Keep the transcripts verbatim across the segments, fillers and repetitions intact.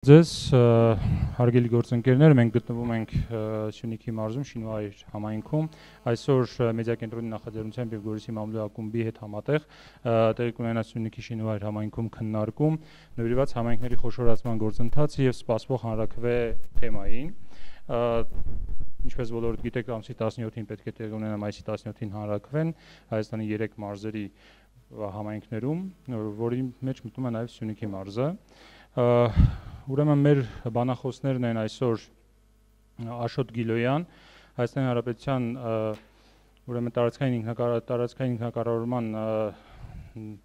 Ձեզ հարգելի գործընկերներ, մենք գտնվում ենք Սյունիքի մարզում Շինուայր համայնքում, այսօր մեդիա կենտրոնի նախաձեռնությամբ եւ Գորիսի մամուլի ակումբի հետ համատեղ տեղի կունենա Սյունիքի Շինուայր համայնքում քննարկում նվիրված համայնքների խոշորացման գործընթացը եւ սպասվող հանրաքվե թեմային։ Ինչպես բոլորդ գիտեք, ամսի տասնյոթին պետք է տեղի ունենա մայիսի տասնյոթին հանրաքվեն Հայաստանի երեք մարզերի համայնքներում, որի մեջ մտնում է նաեւ Սյունիքի մարզը։ Ուրեմն մեր բանախոսներն են այսօր Աշոտ Գիլոյան, Հայաստանի Հանրապետության ուրեմն տարածքային ինքնակառավարման ինքնակառավարման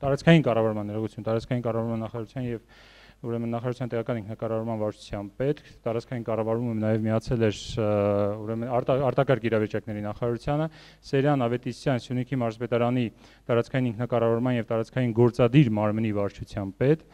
տարածքային կառավարման ներողություն, տարածքային կառավարման նախարարության եւ ուրեմն նախարարության տեղական ինքնակառավարման վարչության պետք, տարածքային կառավարումը նաեւ միացել էր ուրեմն արտակարգ իրավիճակների նախարարությանը, Սերյան Ավետիսյան Սյունիքի մարզպետարանի տարածքային ինքնակառավարման եւ տարածքային գործադիր մարմնի վարչության պետ,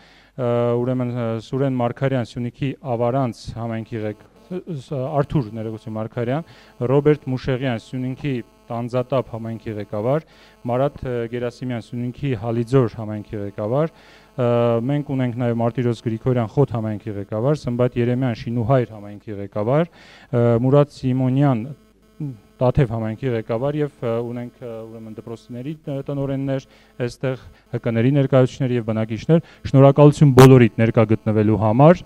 ուրեմն Սուրեն Մարգարյան Սյունիքի Ավարանց համայնքի ղեկ Արթուր ներողություն Մարգարյան, Ռոբերտ Մուշեղյան Սյունիքի Տանձատապ համայնքի ղեկավար, Մարատ Գերասիմյան Սյունիքի Հալիձոր համայնքի ղեկավար, մենք ունենք նաև Մարտիրոս Գրիգորյան Խոտ համայնքի ղեկավար, Սմբատ Երեմյան Շինուհայր համայնքի ղեկավար, Մուրադ Սիմոնյան Տաթև համայնքի ղեկավար եւ ունենք ուրեմն դպրոցների տնօրեններ, այստեղ հկների ներկայացուցիչներ եւ բնակիչներ, շնորհակալություն բոլորիդ ներկա գտնվելու համար։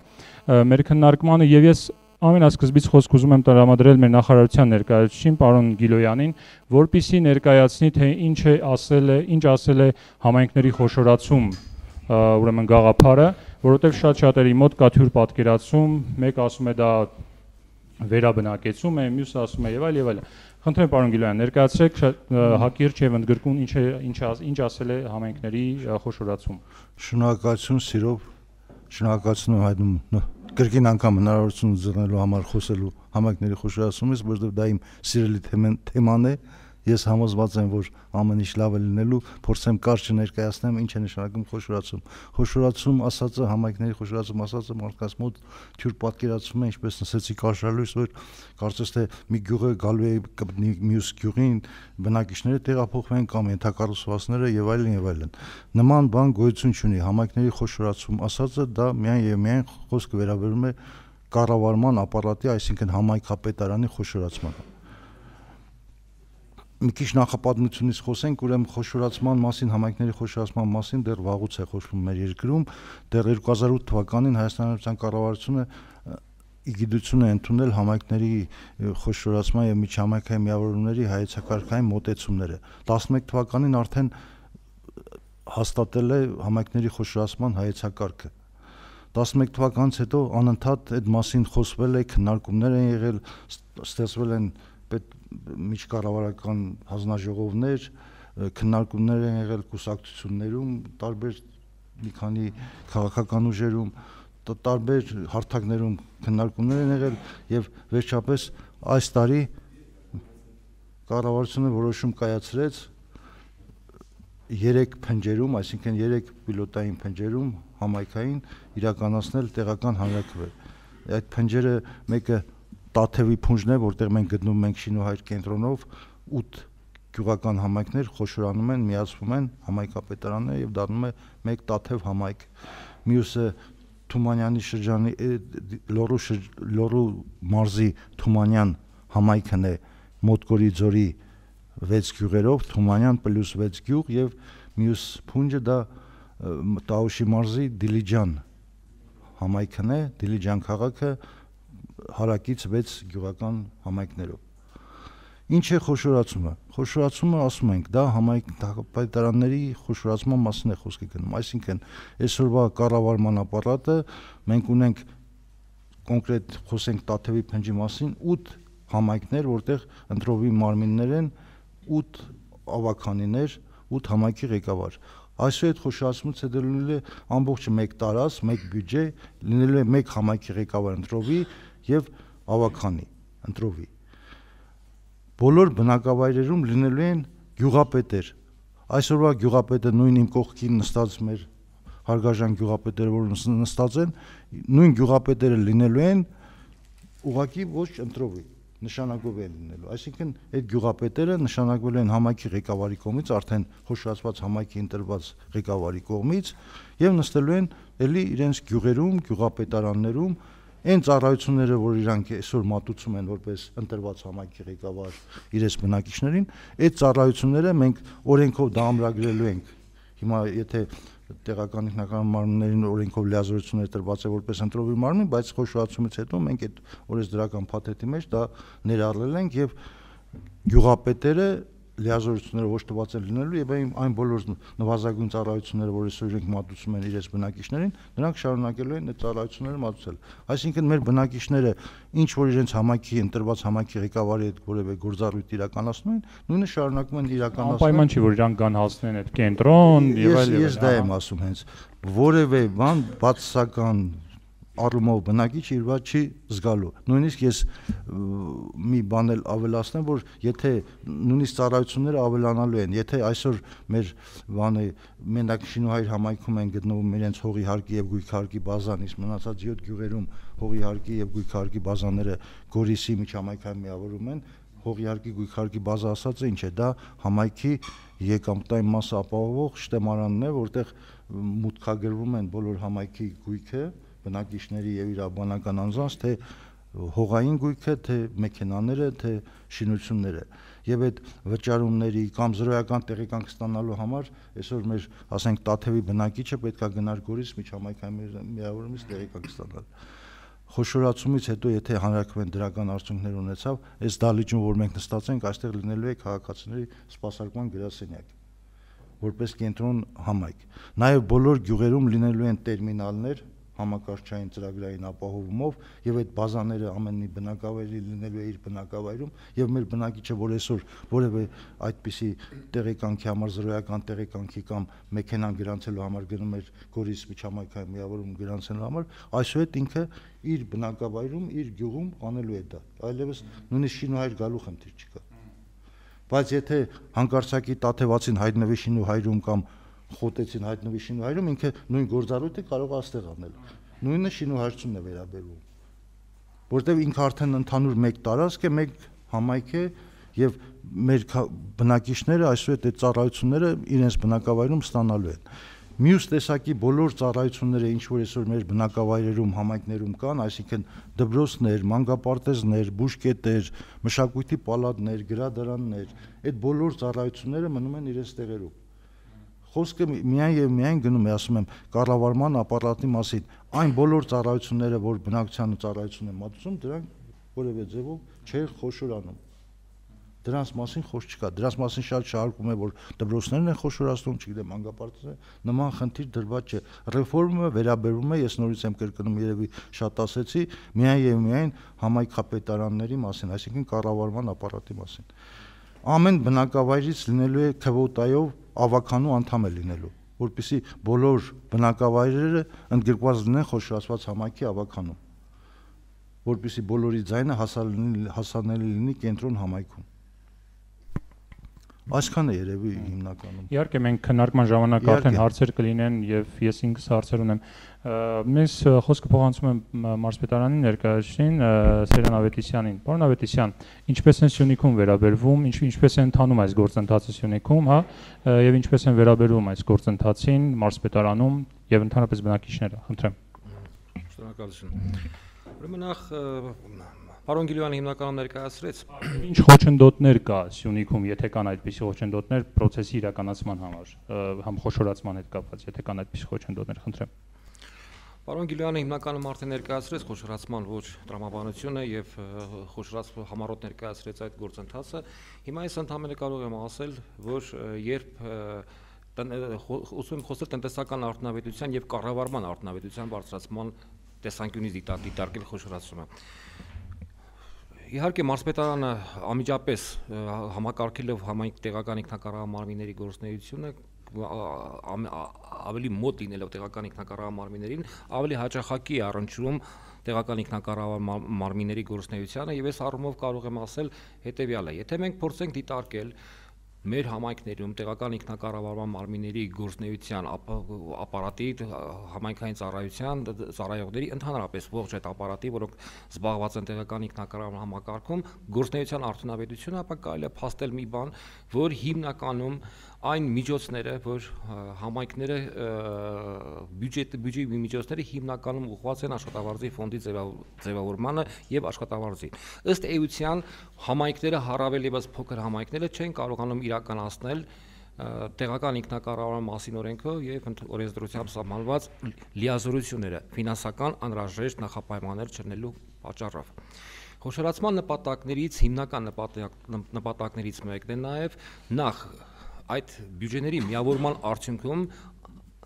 Մեր քննարկմանը եւ ես ամենասկզբից խոսք ուզում եմ տրամադրել մեր նախարարության ներկայացուցիչին, պարոն Գիլոյանին, որպիսի ներկայացնի, թե ինչ է ասել է, ինչ ասել է համայնքների խոշորացում ուրեմն գաղափարը, որովհետեւ շատ-շատերի մոտ կա թյուր պատկերացում, մեկ ասում է դա վերաբնակեցում է, մյուսը ասում է եւ այլ եւ այլ։ Խնդրեմ պարոն Գիլոյան, ներկայացրեք հակիրճ եւ ընդգրկուն ինչ է ինչ ինչ ասել է համայնքների խոշորացում։ Շնորհակալություն սիրով, շնորհակալություն հայտնում կրկին անգամ հնարավորություն ձեռնելու համար խոսելու համայնքների խոշորացումից, որովհետեւ դա իմ սիրելի թեման է։ Ես համոզված եմ, որ ամեն ինչ լավ է լինելու, փորձեմ կարճ ներկայացնեմ ինչ է նշանակում խոշորացում։ Խոշորացում ասածը, համայնքների խոշորացում ասածը մարդկանց մոտ թյուր պատկերացում է, ինչպես նշեցի կարճալույս, որ կարծես թե մի գյուղը գալու է կպնի մյուս գյուղին, բնակիչները տեղափոխվեն կամ ենթակառուցվածքները եւ այլն եւ այլն։ Նման բան գոյություն չունի։ Համայնքների խոշորացում ասածը դա միայն եւ միայն խոսքը վերաբերում է կառավարման ապարատի, այսինքն համայնքապետարանի խոշորացմանը։ Մի քիչ նախապատմությունից խոսենք, ուրեմն խոշորացման մասին, համայնքների խոշորացման մասին դեռ վաղուց է խոսվում մեր երկրում, դեռ երկու հազար ութ թվականին Հայաստանի Հանրապետության կառավարությունը իգիդություն է ընդունել համայնքների խոշորացման եւ միջհամայնքային միավորումների հայեցակարգային մոտեցումները։ տասնմեկ թվականին արդեն հաստատել է համայնքների խոշորացման հայեցակարգը։ տասնմեկ թվականից հետո անընդհատ այդ մասին խոսվել է, քննարկումներ են եղել, ստեղծվել են միջկառավարական հանձնաժողովներ, քննարկումներ են եղել կուսակցություններում, տարբեր մի քանի քաղաքական ուժերում, տարբեր հարթակներում քննարկումներ են եղել եւ վերջապես այս տարի կառավարությունը որոշում կայացրեց երեք փնջերում, այսինքն երեք պիլոտային փնջերում համայնքային իրականացնել տեղական հանրաքվե։ Այդ փնջերը մեկը Տաթևի փունջն է, որտեղ մենք գտնվում ենք Շինուհայր կենտրոնով, ութ գյուղական համայնքներ խոշորանում են, միացվում են համայնքապետարանը եւ դառնում է մեկ Տաթև համայնք։ Մյուսը Թումանյանի շրջանի Լոռու Լոռու մարզի Թումանյան համայնքն է Մոտկորի ձորի վեց գյուղերով, Թումանյան պլյուս վեց գյուղ եւ մյուս փունջը դա Տաուշի մարզի Դիլիջան համայնքն է, Դիլիջան քաղաքը հարակից վեց գյուղական համայնքներով։ Ինչ է խոշորացումը։ Խոշորացումը ասում ենք, դա համայնքապետարանների խոշորացման մասին է խոսքը գնում, այսինքն այսօրվա կառավարման ապարատը մենք ունենք կոնկրետ խոսենք Տաթևի փնջի մասին, ութ համայնքներ, որտեղ ընտրովի մարմիններ են, ութ ավականիներ, ութ համայնքի ղեկավար։ Այսօր այդ խոշորացումից հետո լինելու է ամբողջը մեկ տարած, մեկ բյուջե, լինելու է մեկ համայնքի ղեկավար ընտրովի եւ ավականի ընտրովի։ Բոլոր բնակավայրերում լինելու են գյուղապետեր։ Այսօրվա գյուղապետը նույն իմ կողքին նստած մեր հարգարժան գյուղապետերը, որ նստած են, նույն գյուղապետերը լինելու են ուղղակի ոչ ընտրովի։ նշանակով են լինելու։ Այսինքն այդ գյուղապետերը նշանակվել են համայնքի ղեկավարի կողմից, արդեն խոշորացված համայնքի ընտրված ղեկավարի կողմից եւ նստելու են ելի իրենց գյուղերում, գյուղապետարաններում այն ծառայությունները, որ իրանք այսօր մատուցում են որպես ընտրված համայնքի ղեկավար իրենց բնակիչներին, այդ ծառայությունները մենք օրենքով դա ամրագրելու ենք։ Հիմա եթե տեղական ինքնական մարմիններին օրենքով լիազորություններ տրված է որպես ընտրովի մարմին, բայց խոշորացումից հետո մենք այդ օրենսդրական փաթեթի մեջ դա ներառել ենք եւ գյուղապետերը լիազորությունները ոչ տված են լինելու եւ այն բոլոր նվազագույն ծառայությունները, որ այսօր իրենք մատուցում են իրենց բնակիչներին, նրանք շարունակելու են այդ ծառայությունները մատուցել։ Այսինքն մեր բնակիչները ինչ որ իրենց համայնքի ընտրված համայնքի ղեկավարի հետ որևէ գործառույթ իրականացնում են, նույնը շարունակում են իրականացնել։ Անպայման չի, որ իրանք կան հասնեն այդ կենտրոն եւ այլ եւ այլ։ Ես դա եմ ասում, հենց որևէ բան բացասական առումով բնակիչ իր վրա չի զգալու։ Նույնիսկ ես մի բան էլ ավելացնեմ, որ եթե նույնիսկ ծառայությունները ավելանալու են, եթե այսօր մեր բանը մենակ Շինուհայր համայնքում են գտնվում իրենց հողի հարկի եւ գույքարկի բազան, իսկ մնացած յոթ գյուղերում հողի հարկի եւ գույքարկի բազաները Գորիսի միջհամայնքային միավորում են, հողի հարկի գույքարկի բազա ասածը ինչ է, դա համայնքի եկամտային մասը ապահովող շտեմարանն է, որտեղ մուտքագրվում են բոլոր համայնքի գույքը բնակիչների եւ իրավաբանական անձանց, թե հողային գույքը, թե մեքենաները, թե շինությունները եւ այդ վճարումների կամ զրոյական տեղեկանք ստանալու համար այսօր մեր, ասենք, Տաթևի բնակիչը պետքա գնար Գորիս միջհամայնքային միավորումից տեղեկանք ստանալ։ Խոշորացումից հետո եթե հանրակրվեն դրական արդյունքներ ունեցավ, այս դահլիճում, որ մենք նստած ենք, այստեղ լինելու է քաղաքացիների սպասարկման գրասենյակ որպես կենտրոն համայնք։ Նաեւ բոլոր գյուղերում լինելու են տերմինալներ համակարգչային ծրագրային ապահովումով եւ այդ բազաները ամենի բնակավայրի լինելու է իր բնակավայրում եւ մեր բնակիչը, որ այսօր որևէ այդպիսի տեղեկանքի համար զրոյական տեղեկանքի կամ մեքենան գրանցելու համար գնում էր Գորիս միջհամայնքային միավորում գրանցելու համար, այսուհետ ինքը իր բնակավայրում, իր գյուղում անելու է դա։ Այլևս նույնիսկ Շինուհայր գալու խնդիր չկա։ Բայց եթե հանկարծակի Տաթևացին հայտնվի Շինուհայրում կամ խոտեցին հայտնվի Շինուհայրում, ինքը նույն գործառույթը կարող է այստեղ անել։ Նույնը շինուհարցումն է վերաբերվում, որտեղ ինքը արդեն ընդհանուր մեկ տարածք է, մեկ համայնք է եւ մեր բնակիչները այսուհետ այդ ծառայությունները իրենց բնակավայրում ստանալու են։ Մյուս տեսակի բոլոր ծառայությունները, ինչ որ այսօր մեր բնակավայրերում, համայնքներում կան, այսինքն դպրոցներ, մանկապարտեզներ, բուժկետեր, մշակույթի պալատներ, գրադարաններ, այդ բոլոր ծառայությունները մնում են իրենց տեղերում։ Խոսքը միայն եւ միայն գնում է, ասում եմ, կառավարման ապարատի մասին։ Այն բոլոր ծառայությունները, որ բնակչության ծառայություն են մատուցում, դրանք որևէ ձևով չեն խոշորանում։ Դրանց մասին խոսք չկա։ Դրանց մասին շատ շարքում է, որ դպրոցներն են խոշորացնում, չգիտեմ, մանկապարտեզները, նման խնդիր դրված չէ։ Ռեֆորմը վերաբերվում է, ես նորից եմ կրկնում, երևի շատ ասեցի, միայն եւ միայն համայնքապետարանների մասին, այսինքն կառավարման ապարատի մասին։ Ամեն բնակավայրից լինելու է քվոտայով ավականու անդամ է լինելու, որպեսզի բոլոր բնակավայրերը ընդգրկված լինեն խոշորացված համայնքի ավականում, որպեսզի բոլորի ձայնը հասանելի լինի կենտրոն համայնքում։ Այսքան է երևի հիմնականում։ Իհարկե մենք քննարկման ժամանակ արդեն հարցեր կլինեն եւ ես ինքս հարցեր ունեմ։ Մենք խոսքը փոխանցում եմ մարզպետարանի ներկայացուցիչին Սերյան Ավետիսյանին։ Պարոն Ավետիսյան, ինչպես են Սյունիքում վերաբերվում, ինչ ինչպես է ընթանում այս գործընթացը Սյունիքում, հա, եւ ինչպես են վերաբերվում այս գործընթացին մարզպետարանում եւ ընդհանրապես բնակիչները։ Խնդրեմ։ Շնորհակալություն։ Ուրեմն նախ Պարոն Գիլյանը հիմնականում ներկայացրեց ինչ խոչընդոտներ կա Սյունիքում, եթե կան այդպիսի խոչընդոտներ process-ի իրականացման համար, համ խոշորացման հետ կապված, եթե կան այդպիսի խոչընդոտներ, խնդրեմ։ Պարոն Գիլյանը հիմնականում արդեն ներկայացրեց խոշորացման ոչ տրամաբանությունը եւ խոշորած համառոտ ներկայացրեց այդ գործընթացը։ Հիմա ես ընդհանրապես կարող եմ ասել, որ երբ ուզում եմ խոսել տնտեսական արդյունավետության եւ կառավարման արդյունավետության բարձրացման տեսանկյունից դիտարկել խոշորացումը։ Իհարկե մարզպետարանը անմիջապես համակարգելով համայնք տեղական ինքնակառավարման մարմինների գործունեությունը ավելի մոտ լինելով տեղական ինքնակառավարման մարմիններին ավելի հաճախակի է առնչվում տեղական ինքնակառավարման մարմինների գործունեությանը եւ այս առումով կարող եմ ասել հետեւյալը. եթե մենք փորձենք դիտարկել մեր համայնքներում տեղական ինքնակառավարման մարմինների գործունեության ապարատի համայնքային ծառայության ծառայողների ընդհանրապես ողջ այդ ապարատի, որոնք զբաղված են տեղական ինքնակառավարման համակարգում, գործունեության արդյունավետությունը, ապա կարելի է փաստել մի բան, որ հիմնականում այն միջոցները, որ համայնքները բյուջետ բյուջեի միջոցները հիմնականում ուղղված են աշխատավարձի ֆոնդի ձևավորմանը եւ աշխատավարձի։ Ըստ էության համայնքները առավել եւս փոքր համայնքները չեն կարողանում իրականացնել տեղական ինքնակառավարման մասին օրենքով եւ օրենսդրությամբ սահմանված լիազորությունները ֆինանսական անհրաժեշտ նախապայմաններ չլինելու պատճառով։ Խոշորացման նպատակներից հիմնական նպատակներից մեկն է նաեւ նախ այդ բյուջեների միավորման արդյունքում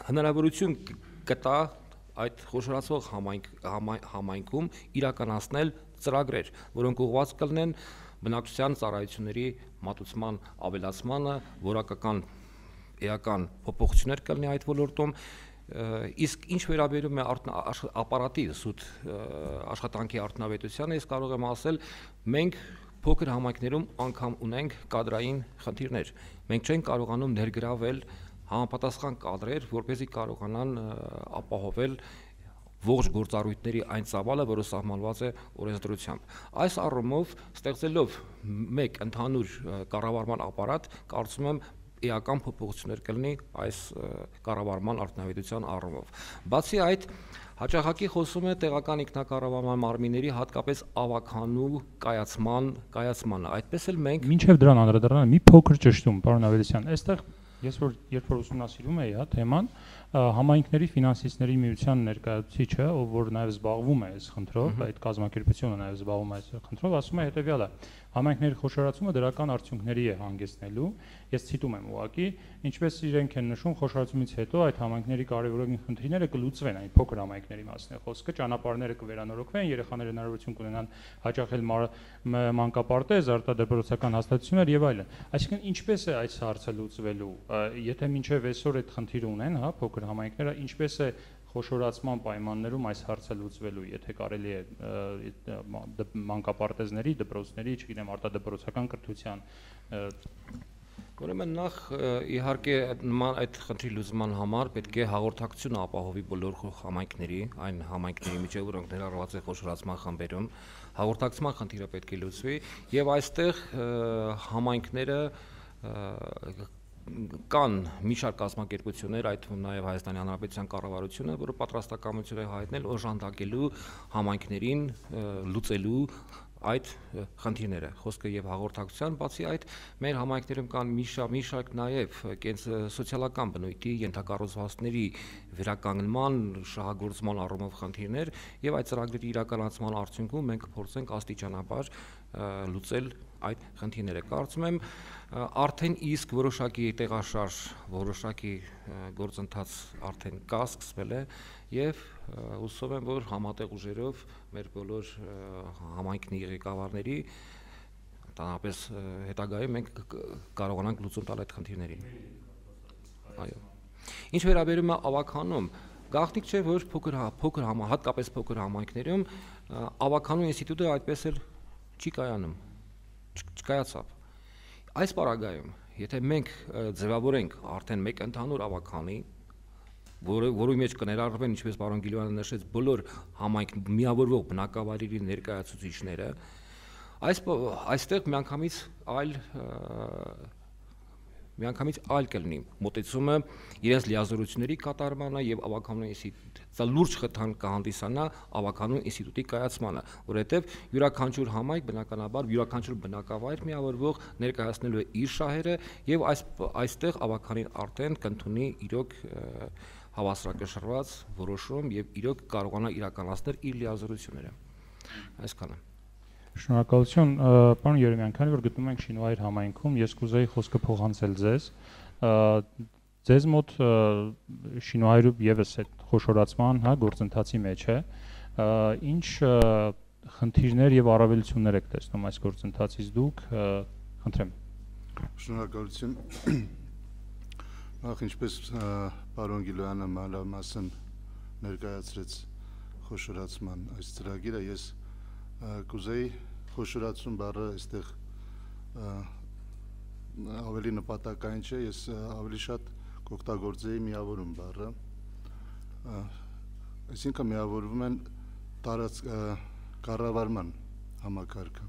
հնարավորություն կտա այդ խոշորացող համայնք համայնքում իրականացնել ծրագրեր, որոնք ուղղված կլինեն բնակչության ծառայությունների մատուցման ավելացմանը, որակական էական փոփոխություններ կլինի այդ ոլորտում, իսկ ինչ վերաբերում է ապարատի սուտ աշխատանքի արդյունավետությանը, ես կարող եմ ասել, մենք փոքր համայնքներում անգամ ունենք կադրային խնդիրներ։ Մենք չենք կարողանում ներգրավել համապատասխան կադրեր, որպեսզի կարողանան ապահովել ողջ գործառույթների այն ծավալը, որը սահմանված է օրենսդրությամբ։ Այս առումով ստեղծելով մեկ ընդհանուր կառավարման ապարատ, կարծում եմ էական փոփոխություններ կլինի այս կառավարման արդյունավետության առումով։ Բացի այդ, հաճախակի խոսում է տեղական ինքնակառավարման մարմինների հատկապես ավականու կայացման կայացմանը։ Այդպես էլ մենք մինչև դրան անդրադառնալ մի փոքր ճշտում, պարոն Ավետիսյան, այստեղ ես որ երբ որ ուսումնասիրում էի, հա, թեման, համայնքների ֆինանսիստների միության ներկայացուցիչը, ով որ նաև զբաղվում է այս խնդրով, այդ կազմակերպությունը նաև զբաղվում է այս խնդրով, ասում է հետևյալը. համայնքների խոշորացումը դրական արդյունքների է հանգեցնելու, ես ցիտում եմ ուղղակի, ինչպես իրենք են նշում, խոշորացումից հետո այդ համայնքների կարևորագույն խնդիրները կլուծվեն, այն փոքր համայնքների մասին է խոսքը, ճանապարհները կվերանորոգվեն, երեխաները հնարավորություն կունենան հաճախել մանկապարտեզ, արտադրոցական հաստատություններ եւ այլն։ Այսինքն ինչպես է այս հարցը լուծվելու, եթե մինչև այսօր այդ խնդիրը ունեն, հա, փոքր համայնքները, ինչպես է խոշորացման պայմաններում այս հարցը լուծվելու, եթե կարելի է մանկապարտեզների, դպրոցների, չգիտեմ, արտադպրոցական կրթության։ Ուրեմն նախ իհարկե նման այդ խնդրի լուծման համար պետք է հաղորդակցություն ապահովի բոլոր համայնքների, այն համայնքների միջև, որոնք ներառված են խոշորացման խմբերում, հաղորդակցման խնդիրը պետք է լուծվի եւ այստեղ համայնքները կան մի շարք կազմակերպություններ, այդ թվում նաև Հայաստանի Հանրապետության կառավարությունը, որը պատրաստակամություն է հայտնել օժանդակելու համայնքներին լուծելու այդ խնդիրները, խոսքը եւ հաղորդակցության, բացի այդ մեր համայնքներում կան մի շարք մի շարք նաև սոցիալական բնույթի ենթակառուցվածքների վերականգնման, շահագործման առումով խնդիրներ եւ այդ ծրագրերի իրականացման արդյունքում մենք կփորձենք աստիճանաբար լուծել այդ խնդիրները։ Կարծում եմ արդեն իսկ որոշակի տեղաշարժ, որոշակի գործընթաց արդեն կա, սկսվել է եւ հուսով եմ, որ համատեղ ուժերով մեր բոլոր համայնքների ղեկավարների, տանապես հետագայում մենք կարողանանք լուծում տալ այդ խնդիրներին։ Այո։ Ինչ վերաբերում է ավականուն, գաղտնիք չէ, որ փոքր փոքր հատկապես փոքր համայնքներում ավականու ինստիտուտը այդպես էլ չի կայանում, չկայացավ։ Այս պարագայում, եթե մենք ձևավորենք արդեն մեկ ընդհանուր ավականի, որը որի մեջ կներառվեն, ինչպես պարոն Գիլյանը նշեց, բոլոր համայնք միավորվող բնակավայրերի ներկայացուցիչները, այս այստեղ միանգամից այլ միանգամից այլ կլինի մոտեցումը իրենց լիազորությունների կատարմանը եւ ավականու ինստիտուտի լուրջ խթան կհանդիսանա ավականու ինստիտուտի կայացմանը, որովհետեւ յուրաքանչյուր համայնք բնականաբար յուրաքանչյուր բնակավայր միավորվող ներկայացնելու է իր շահերը եւ այս այստեղ ավականին արդեն կընդունի իրոք հավասարակշռված որոշում եւ իրոք կարողանա իրականացնել իր լիազորությունները։ Այսքանը։ Շնորհակալություն, պարոն Երեմյան, քանի որ գտնվում ենք Շինվայր համայնքում, ես կուզեի խոսքը փոխանցել ձեզ։ Ձեզ մոտ Շինվայրում եւս այդ խոշորացման, հա, գործընթացի մեջ է։ Ինչ խնդիրներ եւ առավելություններ եք տեսնում այս գործընթացից դուք, խնդրեմ։ Շնորհակալություն։ Նախ ինչպես պարոն Գիլյանը մանրամասն ներկայացրեց խոշորացման այս ծրագիրը, ես կուզեի խոշորացում բառը այստեղ ավելի նպատակային չէ, ես ավելի շատ կօգտագործեի միավորում բառը, այսինքն միավորվում են տարած կառավարման համակարգը,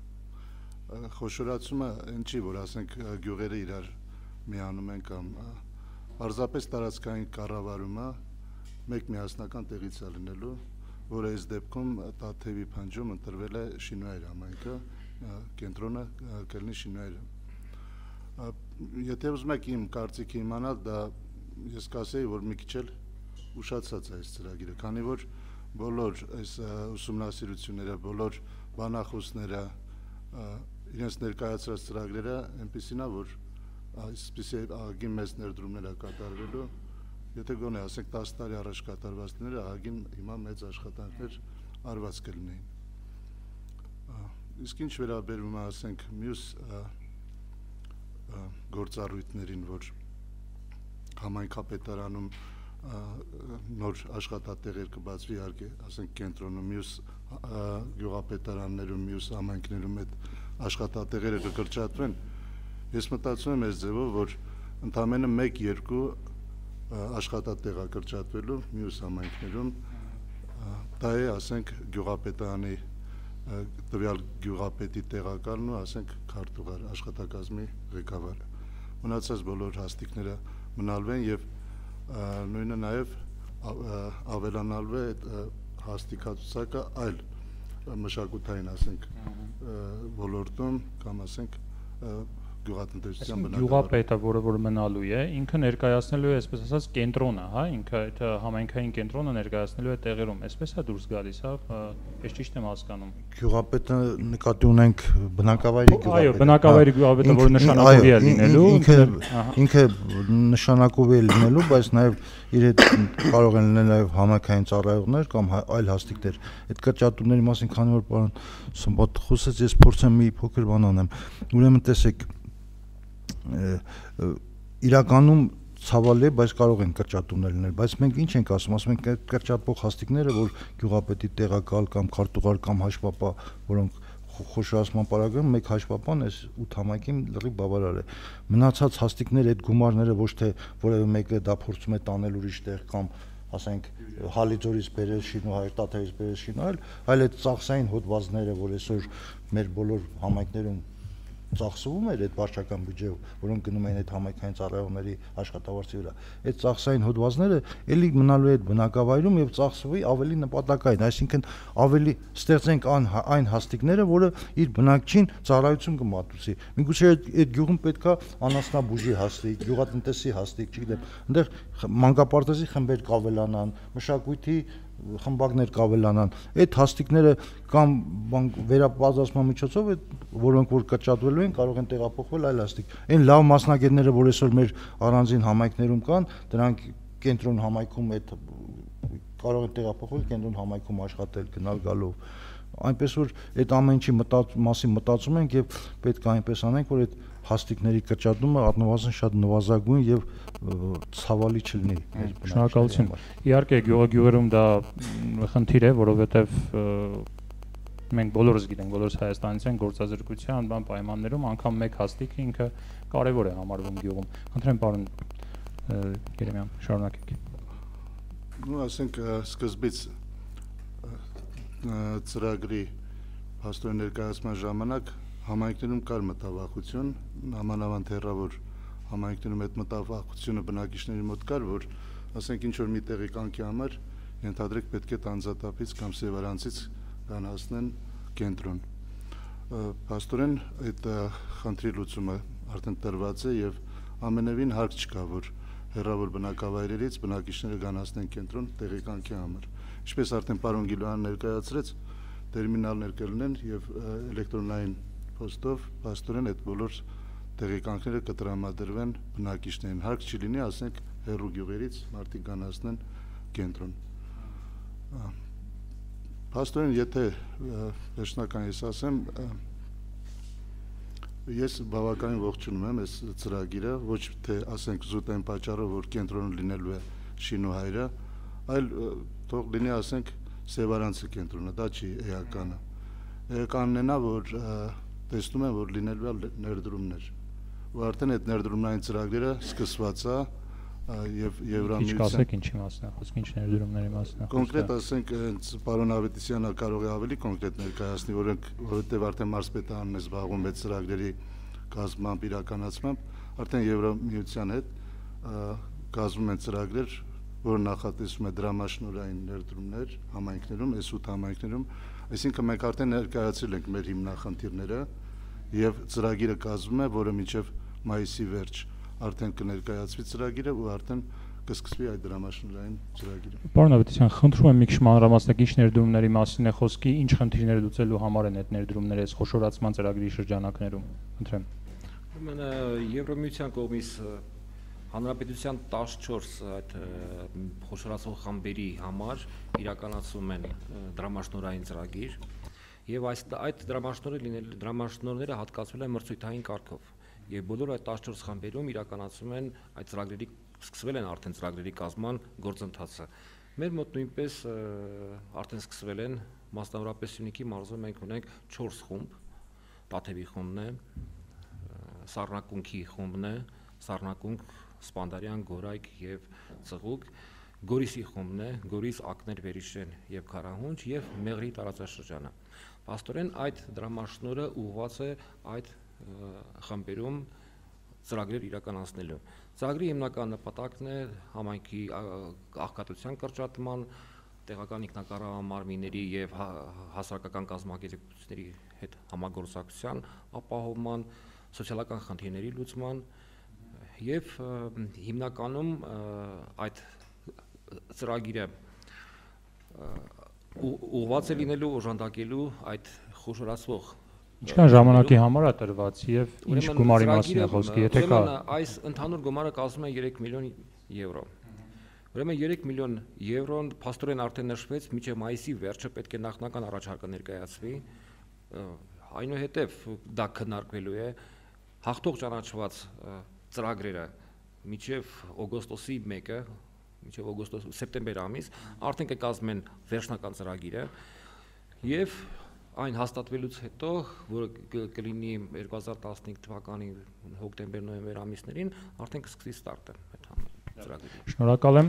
խոշորացումը այն չի, որ ասենք գյուղերը իրար միանում են կամ պարզապես տարածքային կառավարումը մեկ միասնական տեղից է լինելու, որը այս դեպքում Տաթևի փնջում ընտրվել է Շինուայր համայնքը, կենտրոնը կլինի Շինուայրը։ Եթե ուզում եք իմ կարծիքը իմանալ, դա ես կասեի, որ մի քիչ էլ ուշացած է այս ծրագիրը, քանի որ բոլոր այս ուսումնասիրությունները, բոլոր բանախոսները, իրենց ներկայացրած ծրագրերը այնպիսին է, որ այսպիսի ահագին մեծ ներդրումներ է կատարվելու, եթե գոնե ասենք տասը տարի առաջ կատարվածները ահագին հիմա մեծ աշխատանքներ արված կլինեին։ Իսկ ինչ վերաբերում է ասենք մյուս գործառույթներին, որ համայնքապետարանում նոր աշխատատեղեր կբացվի, իհարկե, ասենք կենտրոնում, մյուս գյուղապետարաններում, մյուս համայնքներում այդ աշխատատեղերը կկրճատվեն, ես մտածում եմ այս ձևով, որ ընդամենը մեկ-երկու աշխատատեղ է կրճատվելու մյուս համայնքներում, դա է, ասենք, գյուղապետարանի տվյալ գյուղապետի տեղակալն ու ասենք քարտուղար աշխատակազմի ղեկավարը։ Մնացած բոլոր հաստիկները մնալվեն եւ նույնը նաեւ ավելանալու է այդ հաստիկացուցակը այլ մշակութային ասենք ոլորտում կամ ասենք գյուղատնտեսության բնակավար։ Գյուղապետը, որը որ մնալու է, ինքը ներկայացնելու է, այսպես ասած, կենտրոնը, հա, ինքը այդ համայնքային կենտրոնը ներկայացնելու է տեղերում, այսպես է դուրս գալիս, հա, ես ճիշտ եմ հասկանում։ Գյուղապետը նկատի ունենք բնակավայրի գյուղապետը։ Այո, բնակավայրի գյուղապետը, որը նշանակովի է լինելու, ինքը ինքը նշանակովի է լինելու, բայց նաև իր հետ կարող են լինել նաև համայնքային ծառայողներ կամ այլ հաստիկներ։ Այդ կրճատումների մասին, քանի որ պարոն Սմբատ խոսեց, ես փորձեմ մի փոքր բան անեմ։ Ուրեմն տեսեք, իրականում ցավալի է, բայց կարող են կրճատումներ լինել, բայց մենք ինչ ենք ասում, ասում ենք կրճատվող հաստիկները, որ գյուղապետի տեղակալ կամ քարտուղար կամ հաշվապահ, որոնք խոշորացման պարագայում մեկ հաշվապահն էս ութ համայնքին լրիվ բավարար է։ Մնացած հաստիկները այդ գումարները ոչ թե որևէ մեկը դա փորձում է տանել ուրիշ տեղ կամ ասենք Հալիձորից բերել Շինուհայր, Տաթևից բերել Շինուհայր, այլ այդ ծախսային հոդվածները, որ այսօր մեր բոլոր համայնքներում ծախսվում էր այդ վարչական բյուջեով, որոնք գնում են այդ համայնքային ծառայողների աշխատավարձի վրա։ Այդ ծախսային հոդվածները էլի մնալու է այդ բնակավայրում եւ ծախսվի ավելի նպատակային, այսինքն ավելի ստեղծենք այն հաստիկները, որը իր բնակչին ծառայություն կմատուցի։ Միգուցե այդ գյուղում պետքա անասնաբուժի հաստիկ, գյուղատնտեսի հաստիկ, չգիտեմ, այնտեղ մանկապարտեզի խմբեր կավելանան, մշակույթի խմբակներ կավելանան, այդ հաստիկները կամ վերապատրաստման միջոցով, որոնք որ կրճատվելու են, կարող են տեղափոխվել այլ հաստիկ։ Այն լավ մասնագետները, որ այսօր մեր առանձին համայնքներում կան, դրանք կենտրոն համայնքում այդ կարող են տեղափոխվել կենտրոն համայնքում աշխատել, գնալ գալով։ Այնպես որ այդ ամեն ինչի մասին մտածում ենք եւ պետք է այնպես անենք, որ այդ հաստիկների կրճատումը առնվազն շատ նվազագույն եւ ցավալի չլինի։ Շնորհակալություն։ Իհարկե գյուղը գյուղերում դա խնդիր է, որովհետեւ մենք բոլորս գիտենք, բոլորս Հայաստանից են գործազրկության բան պայմաններում անգամ մեկ հաստիկը ինքը կարևոր է համարվում գյուղում։ Խնդրեմ պարոն Երեմյան, շարունակեք։ Ну, ասենք սկզբից ծրագրի հաստորեն ներկայացման ժամանակ համայնքներում կար մտավախություն, նամանավանդ հեռավոր համայնքներում այդ մտավախությունը բնակիչների մոտ կար, որ ասենք ինչ որ մի տեղի կանքի համար ենթադրեք պետք է Տանձատափից կամ Սևարանցից կան հասնեն կենտրոն։ Հաստորեն այդ խնդրի լուծումը արդեն տրված է եւ ամենևին հարկ չկա, որ հեռավոր բնակավայրերից բնակիչները կան հասնեն կենտրոն տեղի կանքի համար։ Ինչպես արդեն պարոն Գիլոյանը ներկայացրեց, տերմինալներ կլինեն եւ էլեկտրոնային փոստով փաստորեն այդ բոլոր տեղեկանքները կտրամադրվեն բնակիչներին։ Հարկ չի լինի, ասենք հեռու գյուղերից մարդիկ կան հասնեն կենտրոն։ Փաստորեն, եթե վերջնական ես ասեմ, ես բավականին ողջունում եմ այս ծրագիրը, ոչ թե ասենք զուտ այն պատճառով, որ կենտրոն լինելու է Շինուհայրը, այլ թող լինի ասենք Սևարանցի կենտրոնը, դա չի էականը։ Էականն է նա, որ տեսնում են, որ լինելու է ներդրումներ, ու արդեն այդ ներդրումային ծրագրերը սկսված է եւ Եվրամիության։ Ինչ կասեք ինչի մասն է, խոսք ինչ ներդրումների մասն է։ Կոնկրետ ասենք պարոն Ավետիսյանը կարող է ավելի կոնկրետ ներկայացնի, որովհետեւ արդեն մարզպետանն է զբաղվում այդ ծրագրերի կազմամբ իրականացմամբ, արդեն Եվրամիության հետ կազմում են ծրագրեր, որ նախատեսում է դրամաշնորհային ներդրումներ համայնքներում, այս ութ համայնքներում, այսինքն մենք արդեն ներկայացրել ենք մեր հիմնախնդիրները եւ ծրագիրը կազմում է, որը մինչեւ մայիսի վերջ արդեն կներկայացվի ծրագիրը ու արդեն կսկսվի այդ դրամաշնորհային ծրագիրը։ Պարոն Ավետիսյան, խնդրում եմ մի քիչ մանրամասնեք ինչ ներդրումների մասին է խոսքի, ինչ խնդիրներ լուծելու համար են այդ ներդրումները այս խոշորացման ծրագրի շրջանակներում։ Խնդրեմ։ Ուրեմն Եվրամիության կողմից Հանրապետության տասնչորս այդ խոշորացող խմբերի համար իրականացում են դրամաշնորհային ծրագիր եւ այս այդ դրամաշնորհը լինել դրամաշնորհները հատկացվել են մրցույթային կարգով եւ բոլոր այդ տասնչորս խմբերում իրականացում են այդ ծրագրերի սկսվել են արդեն ծրագրերի կազմման գործընթացը։ Մեր մոտ նույնպես արդեն սկսվել են մասնավորապես Սյունիքի մարզում մենք ունենք չորս խումբ, Տաթևի խումբն է, Սառնակունքի խումբն է, Սառնակունք, Սպանդարյան, Գորայք եւ Ծղուկ, Գորիսի խումբն է, Գորիս, Ակներ, Վերիշեն եւ Քարահունջ եւ Մեղրի տարածաշրջանը։ Պաստորեն այդ դրամաշնորհը ուղղված է այդ խմբերում ծրագրեր իրականացնելու։ Ծրագրի հիմնական նպատակն է համայնքի աղքատության կրճատման, տեղական ինքնակառավարման մարմինների եւ հասարակական կազմակերպությունների հետ համագործակցության ապահովման, սոցիալական խնդիրների լուծման եւ հիմնականում այդ ծրագիրը ուղղված է լինելու օժանդակելու այդ խոշորացվող Ինչքան ժամանակի համար է տրված եւ ինչ գումարի մասին է խոսքը, եթե կա։ Այս ընդհանուր գումարը կազմում է երեք միլիոն եվրո։ Ուրեմն երեք միլիոն եվրոն փաստորեն արդեն նշվեց, մինչև մայիսի վերջը պետք է նախնական առաջարկը ներկայացվի։ Այնուհետև դա քննարկվելու է հաղթող ճանաչված ծրագրերը մինչև օգոստոսի մեկը, մինչև օգոստոս սեպտեմբեր ամիս արդեն կկազմեն վերջնական ծրագիրը եւ այն հաստատվելուց հետո, որը կլինի երկու հազար տասնհինգ թվականի հոկտեմբեր-նոյեմբեր ամիսներին, արդեն կսկսի ստարտը այդ ծրագրի։ Շնորհակալ եմ։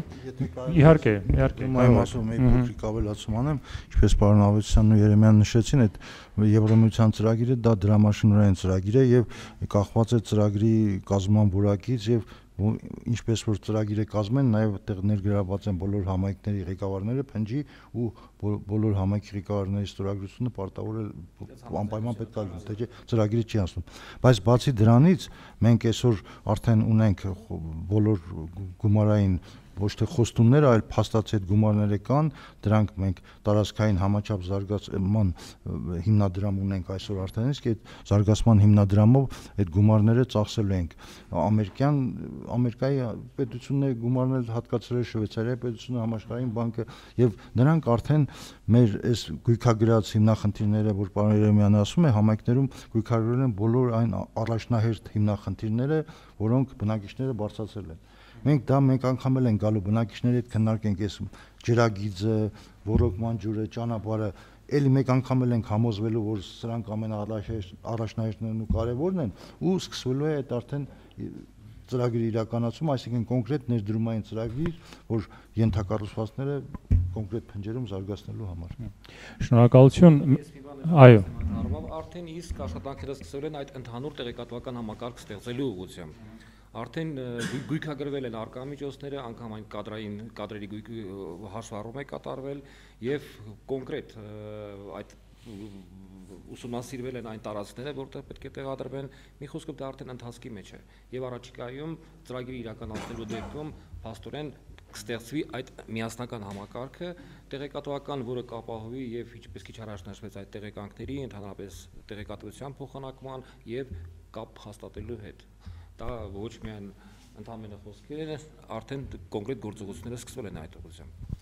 Իհարկե, իհարկե։ Այո, ասում եմ, փոքրիկ ավելացում անեմ, ինչպես պարոն Ավետիսյանն ու Երեմյանն նշեցին, այդ Եվրամիության ծրագիրը դա դրամաշնորհային ծրագիր է եւ կախված է ծրագրի կազմման որակից եւ ինչպես որ ծրագիրը կազմեն, նաև այդտեղ ներգրաված են բոլոր համայնքների ղեկավարները, փնջի ու բոլոր համայնքի ղեկավարների ստորագրությունը պարտավոր է անպայման պետք է լինի, թե ծրագիրը չի անցնում։ Բայց բացի դրանից մենք այսօր արդեն ունենք բոլոր գումարային ոչ թե խոստումներ, այլ փաստացի այդ գումարները կան, դրանք մենք տարածքային համաչափ զարգացման հիմնադրամ ունենք այսօր արդեն, իսկ այդ զարգացման հիմնադրամով այդ գումարները ծախսելու ենք։ Ամերիկյան Ամերիկայի պետությունն է գումարներ հատկացրել, Շվեյցարիայի պետությունը, Համաշխարհային բանկը եւ նրանք արդեն մեր այս գույքագրած հիմնախնդիրները, որ պարոն Երեմյանը ասում է, համայնքներում գույքագրել են բոլոր այն առաջնահերթ հիմնախնդիրները, որոնք բնակիչները բարձրացրել են։ Մենք դա մենք անգամ էլ են գալու բնակիչների հետ քննարկենք այս ջրագիծը, ոռոգման ջուրը, ճանապարհը, էլի մեկ անգամ էլ ենք համոզվելու, որ սրանք ամենաառաջնահերթներն ու կարևորն են ու սկսվելու է այդ արդեն ծրագրի իրականացում, այսինքն կոնկրետ ներդրումային ծրագիր, որ ենթակառուցվածքները կոնկրետ փնջերում զարգացնելու համար։ Շնորհակալություն։ Այո։ Արդեն իսկ աշխատանքները սկսվել են այդ ընդհանուր տեղեկատվական համակարգ ստեղծելու ուղղությամբ։ Արդեն գույքագրվել են արկամիջոցները, անգամ այն կադրային կադրերի գույքի հաշվառում է կատարվել եւ կոնկրետ այդ ուսումնասիրվել են այն տարածքները, որտեղ պետք է տեղադրվեն, մի խոսքով դա արդեն ընթացքի մեջ է եւ առաջիկայում ծրագիրի իրականացնելու դեպքում փաստորեն կստեղծվի այդ միասնական համակարգը տեղեկատվական, որը կապահովի եւ ինչպես քիչ առաջ նշվեց այդ տեղեկանքների, ընդհանրապես տեղեկատվության փոխանակման եւ կապ հաստատելու հետ։ Դա ոչ միայն ընդհանրապես խոսքեր են, արդեն կոնկրետ գործողությունները սկսվել են այդ ուղղությամբ։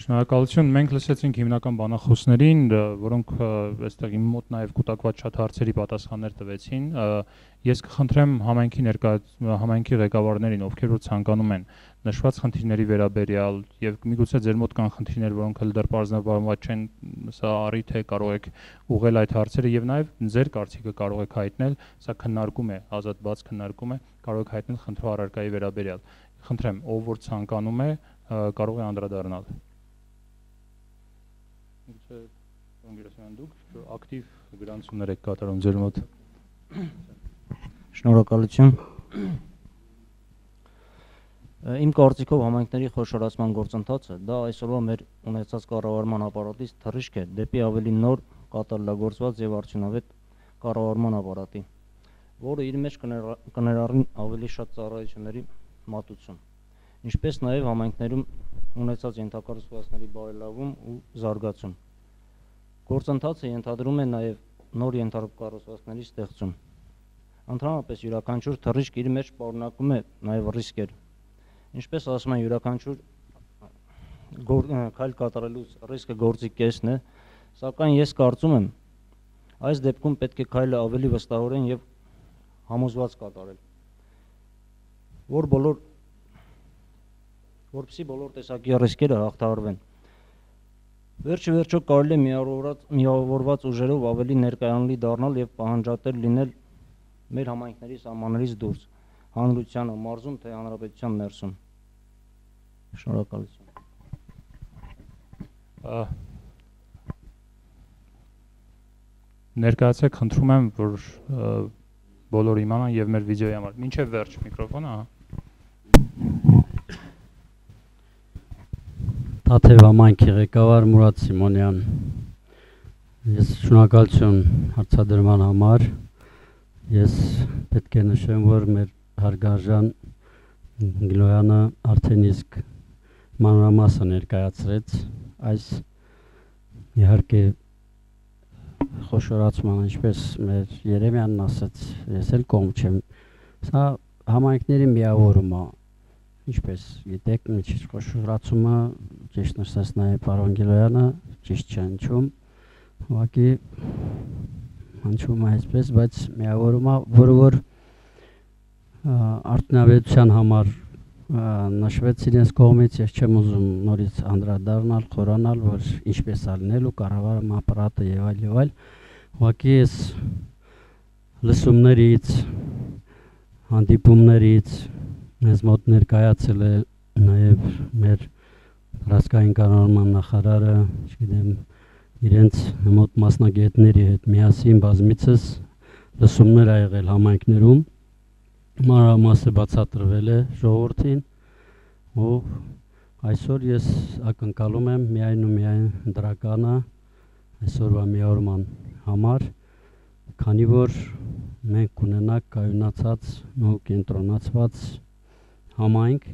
Շնորհակալություն, մենք լսեցինք հիմնական բանախոսներին, որոնք այստեղ իմ մոտ նաև կուտակված շատ հարցերի պատասխաններ տվեցին։ Ես կխնդրեմ համայնքի ներկայ համայնքի ղեկավարներին, ովքեր որ ցանկանում են նշված խնդիրների վերաբերյալ եւ միգուցե ձեր մոտ կան խնդիրներ, որոնք հələ դեռ բարձրաբանված չեն, սա առիթ է, կարող եք ուղղել այդ հարցերը եւ նաեւ ձեր կարծիքը կարող եք հայտնել, սա քննարկում է, ազատ բաց քննարկում է, կարող եք հայտնել խնդրու առարկայի վերաբերյալ։ Խնդրեմ, ով որ ցանկանում է, կարող է անդրադառնալ։ Միգուցե Անգերասյան դուք ակտիվ գրանցումներ եք կատարում ձեր մոտ։ Շնորհակալություն։ Իմ կարծիքով համայնքների խոշորացման գործընթացը դա այսօրվա մեր ունեցած կառավարման ապարատից թռիչք է դեպի ավելի նոր, կատարելագործված եւ արդյունավետ կառավարման ապարատի, որը իր մեջ կներառի ավելի շատ ծառայությունների մատուցում, ինչպես նաեւ համայնքներում ունեցած ենթակառուցվածքների բարելավում ու զարգացում։ Գործընթացը ենթադրում է նաեւ նոր ենթակառուցվածքների ստեղծում։ Ընդհանրապես յուրաքանչյուր թռիչք իր մեջ պարունակում է նաեւ ռիսկեր։ Ինչպես ասում են, յուրաքանչյուր քայլ կատարելուց ռիսկը գործի կեսն է, սակայն ես կարծում եմ, այս դեպքում պետք է քայլը ավելի վստահորեն եւ համոզված կատարել, որ բոլոր որպեսզի բոլոր տեսակի ռիսկերը հաղթահարվեն։ Վերջի վերջո կարելի է միավորված ուժերով ավելի ներկայանալի դառնալ եւ պահանջատեր լինել մեր համայնքների սահմաններից դուրս, հանրությանը, մարզում թե հանրապետության ներսում։ Շնորհակալություն։ Ներկայացեք, խնդրում եմ, որ բոլորը իմանան եւ մեր վիդեոյի համար։ Մինչեւ վերջ միկրոֆոնը, հա։ Թաթև համայնքի ղեկավար Մուրադ Սիմոնյան։ Ես շնորհակալություն հարցադրման համար։ Ես պետք է նշեմ, որ մեր հարգարժան Գլոյանը արդեն իսկ մանրամասը ներկայացրեց այս իհարկե խոշորացման, ինչպես մեր Երեմյանն ասաց, ես էլ կողմ չեմ, սա համայնքների միավորում է, ինչպես գիտեք, մի քիչ խոշորացումը, ճիշտ նշեց նաև պարոն Գլոյանը, ճիշտ չէ հնչում, ուղղակի հնչում է այսպես, բայց միավորում է, որը որ արդյունավետության համար նշվեց իրենց կողմից, ես չեմ ուզում նորից անդրադառնալ, խորանալ, որ ինչպես է լինելու կառավարման ապարատը եւ այլ եւ այլ, ուղղակի ես լսումներից, հանդիպումներից մեզ մոտ ներկայացել է նաեւ մեր ռասկային կառավարման նախարարը, չգիտեմ, իրենց մոտ մասնագետների հետ միասին բազմիցս լսումներ ա եղել համայնքներում, մանրամասը բացատրվել է ժողովրդին ու այսօր ես ակնկալում եմ միայն ու միայն դրականը այսօրվա միավորման համար, քանի որ մենք կունենանք կայունացած ու կենտրոնացված համայնք,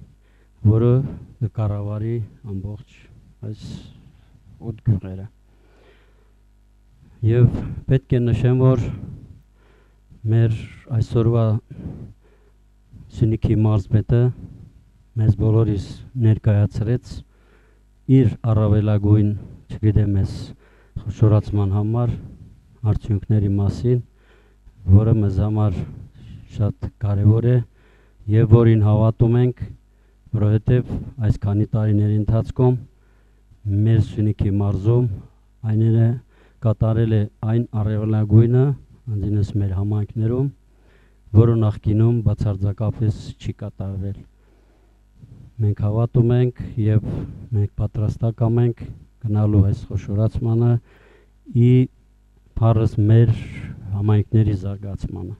որը կկառավարի ամբողջ այս ութ գյուղերը։ Եվ պետք է նշեմ, որ մեր այսօրվա Սյունիքի մարզպետը մեզ բոլորիս ներկայացրեց իր առավելագույն, չգիտեմ ես, խոշորացման համար արդյունքների մասին, որը մեզ համար շատ կարևոր է եւ որին հավատում ենք, որովհետեւ այս քանի տարիների ընթացքում մեր Սյունիքի մարզում այները կատարել է այն առավելագույնը, անձինս մեր համայնքներում, որը նախկինում բացարձակապես չի կատարվել։ Մենք հավատում ենք եւ մենք պատրաստակամ ենք գնալու այս խոշորացմանը ի փառս մեր համայնքների զարգացմանը։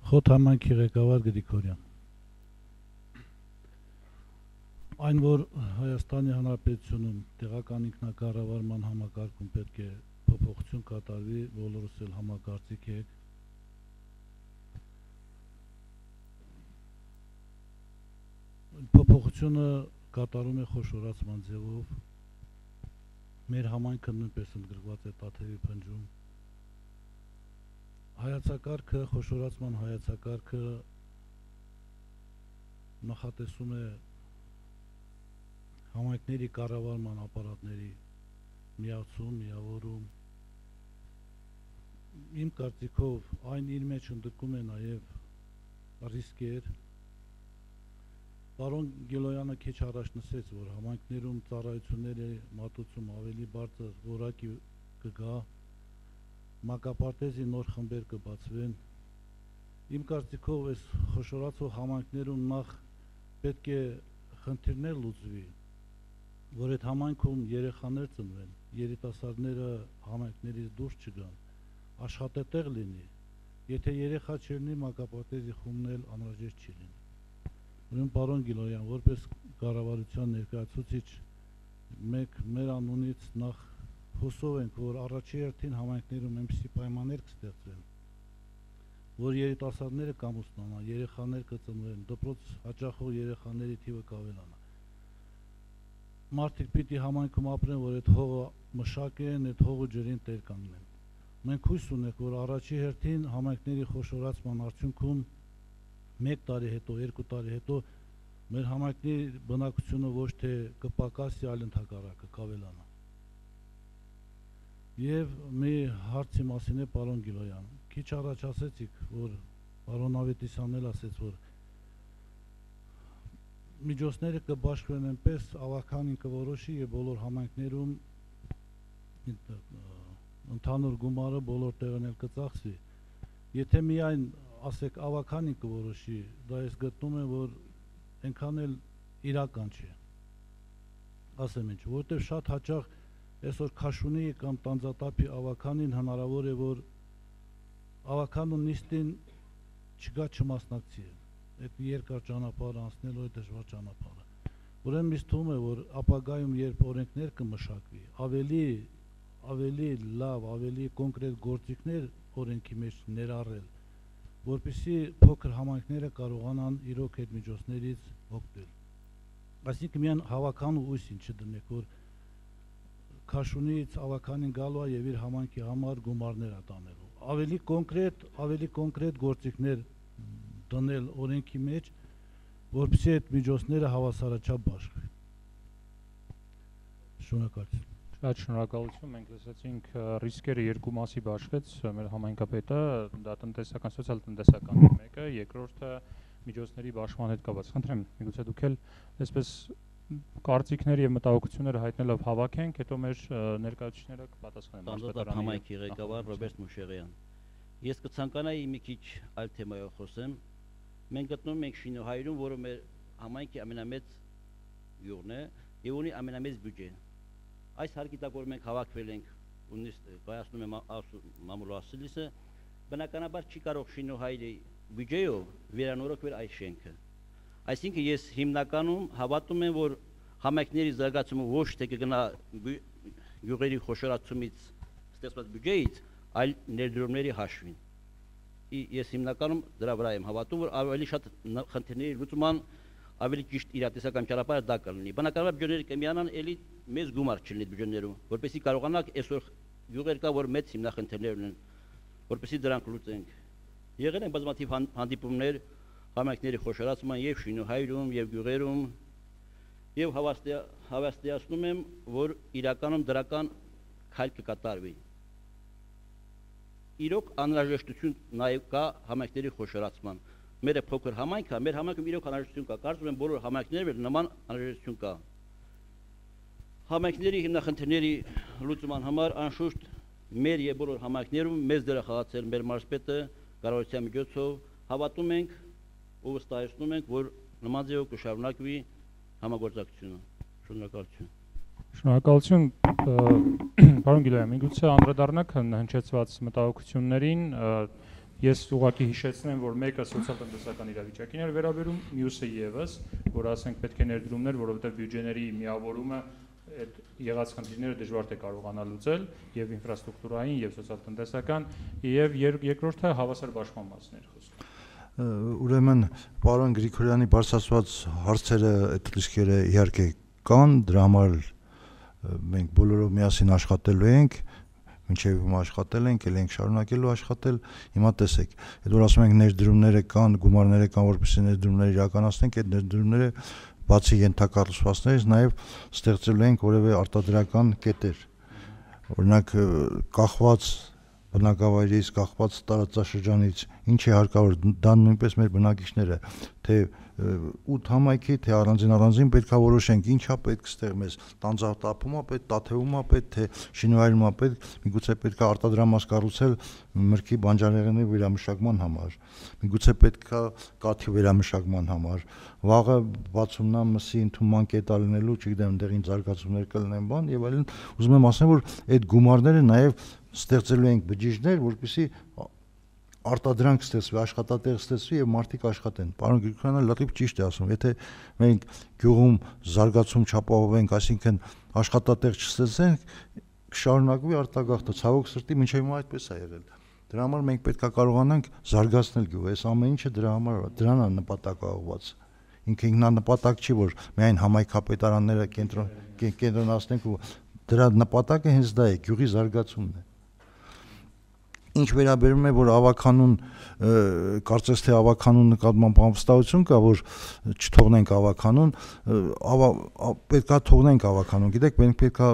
Խոտ համայնքի ղեկավար Գրիգորյան։ Այն, որ Հայաստանի Հանրապետությունում տեղական ինքնակառավարման համակարգում պետք է փոփոխություն կատարվի, բոլորս էլ համակարծիք եք։ Փոփոխությունը կատարում է խոշորացման ձևով։ Մեր համայնքը նույնպես ընդգրկված է Տաթևի փնջում։ Հայացակարգը, խոշորացման հայացակարգը նախատեսում է համայնքների կառավարման ապարատների միացում, միավորում, իմ կարծիքով այն իր մեջ ընդգրկում է նաև ռիսկեր։ Պարոն Գիլոյանը քիչ առաջ նշեց, որ համայնքներում ծառայությունների մատուցում ավելի բարձր որակի կգա, մակապարտեզի նոր խմբեր կբացվեն։ Իմ կարծիքով այս խոշորացող համայնքներում նախ պետք է խնդիրներ լուծվի, որ այդ համայնքում երեխաներ ծնվեն, երիտասարդները համայնքներից դուրս չգան, աշխատատեղ լինի, եթե երեխա չլինի, մակապարտեզի խումբն էլ անհրաժեշտ չի լինի։ Ուրեմն պարոն Գիլոյան, որպես կառավարության ներկայացուցիչ, մենք մեր անունից նախ հուսով ենք, որ առաջի հերթին համայնքներում այնպիսի պայմաններ կստեղծվեն, որ երիտասարդները կամուսնանան, երեխաներ կծնվեն, դպրոց հաճախող երեխաների թիվը կավելանա։ Մարդիկ պիտի համայնքում ապրեն, որ այդ հողը մշակեն, այդ հողը ջրին տեր կանգնեն։ Մենք հույս ունենք, որ առաջի հերթին համայնքների խոշորացման արդյունքում մեկ տարի հետո, երկու տարի հետո մեր համայնքների բնակությունը ոչ թե կպակասի, այլ ընդհակառակը կավելանա։ Եվ մի հարցի մասին է պարոն Գիլոյան, քիչ առաջ ասեցիք, որ պարոն Ավետիսյանն էլ ասեց, որ միջոցները կբաշխվեն այնպես, ավականին կորոշի եւ բոլոր համայնքներում ընդհանուր գումարը բոլոր տեղն էլ կծախսվի։ Եթե միայն ասեք ավականին կորոշի, դա ես գտնում եմ, որ այնքան էլ իրական չէ։ Ասեմ ինչ, որտեղ շատ հաճախ այսօր Քաշունի կամ Տանձատափի ավականին հնարավոր է, որ ավականու նիստին չգա չմասնակցի է։ Այդ երկար ճանապարհ անցնելու է դժվար ճանապարհը։ Ուրեմն ինձ թվում է, որ ապագայում երբ օրենքներ կմշակվի, ավելի ավելի լավ, ավելի կոնկրետ գործիքներ օրենքի մեջ ներառել, որպեսզի փոքր համայնքները կարողանան իրոք այդ միջոցներից օգտվել։ Այսինքն միայն հավաkan ու ուսին չդնեք, որ Քաշունից ավականին գալու է եւ իր համայնքի համար գումարներ ատանելու։ Ավելի կոնկրետ, ավելի կոնկրետ գործիքներ դնել օրենքի մեջ, որպեսզի այդ միջոցները հավասարաչափ բաշխվեն։ Շնորհակալություն։ Շատ շնորհակալություն, մենք լսեցինք ռիսկերը երկու մասի բաշխեց մեր համայնքապետը, դա տնտեսական, սոցիալ-տնտեսական մեկը, երկրորդը միջոցների բաշխման հետ կապված։ Խնդրեմ, միգուցե դուք էլ այսպես կարծիքներ եւ մտահոգությունները հայտնելով հավաքենք, հետո մեր ներկայացուցիչները կպատասխանեն։ Տանձատափ համայնքի ղեկավար Ռոբերտ Մուշեղյան։ Ես կցանկանայի մի քիչ այլ թեմայով խոսեմ։ Մենք գտնվում ենք Շինուհայրում, որը մեր համայնքի ամենամեծ գյուղն է եւ ունի ամենամեծ բյուջե։ Այս հարկի տակ, որ մենք հավաքվել ենք, ու նիստ կայացնում եմ մամուլ ասելիսը, բնականաբար չի կարող Շինուհայրի բյուջեով վերանորոգվել այս շենքը։ Այսինքն ես հիմնականում հավատում եմ, որ համայնքների զարգացումը ոչ թե կգնա գյուղերի խոշորացումից ստեղծված բյուջեից, այլ ներդրումների հաշվին։ Ես հիմնականում դրա վրա եմ հավատում, որ ավելի շատ խնդիրների լուծման ավելի ճիշտ իրատեսական ճանապարհը դա կլինի։ Բնականաբար բյուջեները կմիանան, էլի մեծ գումար չլինի բյուջեներում, որպեսզի կարողանանք այսօր գյուղեր կա, որ մեծ հիմնախնդիրներ ունեն, որպեսզի դրանք լուծենք։ Եղել են բազմաթիվ հանդիպումներ համայնքների խոշորացման եւ Շինուհայրում եւ գյուղերում եւ հավաստիացնում եմ, որ իրականում դրական քայլ կկատարվի։ Իրոք անհրաժեշտություն նաեւ կա համայնքների խոշորացման։ Մեր փոքր համայնքը, մեր համայնքում իրոք անհրաժեշտություն կա, կարծում եմ բոլոր համայնքներում նման անհրաժեշտություն կա։ Համայնքների հիմնախնդիրների լուծման համար անշուշտ մեր եւ բոլոր համայնքներում մեծ դեր է խաղացել մեր մարզպետը կառավարության միջոցով, հավատում ենք ու վստահեցնում ենք, որ նման ձևով կշարունակվի համագործակցությունը։ Շնորհակալություն։ Շնորհակալություն, պարոն Գիլոյան, միգուցե անդրադառնաք հնչեցված մտահոգություններին։ Ես ուղղակի հիշեցնեմ, որ մեկը սոցիալ-տնտեսական իրավիճակին էր վերաբերում, մյուսը եւս, որ ասենք պետք է ներդրումներ, որովհետեւ բյուջեների միավորումը այդ եղած խնդիրները դժվար է կարողանալ լուծել եւ ինֆրաստրուկտուրային եւ սոցիալ-տնտեսական եւ երկրորդը հավասար բաշխման մասն էր խոսքը։ Ուրեմն պարոն Գրիգորյանի բարձրացված հարցերը, այդ ռիսկերը իհարկե կան, դրա համար մենք բոլորով միասին աշխատելու ենք, մինչև հիմա աշխատել ենք, ել ենք շարունակելու աշխատել, հիմա տեսեք, այդ որ ասում ենք ներդրումները կան, գումարները կան, որպեսզի ներդրումները իրականացնենք, այդ ներդրումները բացի ենթակառուցվածքներից նաև ստեղծելու ենք որևէ արտադրական կետեր, օրինակ կախված բնակավայրից կախված տարածաշրջանից ինչ է հարկավոր, դա նույնպես մեր բնակիչները, թե ութ համայնքի, թե առանձին առանձին պետքա որոշենք ինչա պետք ստեղ մեզ տանձատափումա պետք, տաթևումա պետք, թե շինվայրումա պետք, միգուցե պետքա արտադրամաս կառուցել մրգի բանջարեղենի վերամշակման համար, միգուցե պետքա կաթի վերամշակման համար, վաղը բացումնա մսի ընդունման կետա լինելու, չգիտեմ, այնտեղին զարգացումներ կլինեն բան եւ այլն, ուզում եմ ասեմ, որ այդ գումարները նաեւ ստեղծելու ենք բջիջներ, որպեսզի արտադրանք ստեղծվի, աշխատատեղ ստեղծվի եւ մարդիկ աշխատեն։ Պարոն Գրիգորյանը լրիվ ճիշտ է ասում, եթե մենք գյուղում զարգացում չապահովենք, այսինքն աշխատատեղ չստեղծենք, կշարունակվի արտագաղթը, ցավոք սրտի մինչև հիմա այդպես է եղել։ Դրա համար մենք պետք է կարողանանք զարգացնել գյուղը, այս ամեն ինչը դրա համար դրան է նպատակաուղված։ Ինքը ինքնանպատակ չի, որ միայն համայնքապետարանները կենտրոն կենտրոնացնենք ու դրա նպատակը հենց դա է, գյուղի զարգացումն է։ Ինչ վերաբերում է, որ ավականուն, կարծես թե ավականուն նկատմամբ անվստահություն կա, որ չթողնենք ավականուն, պետքա թողնենք ավականուն, գիտեք, մենք պետքա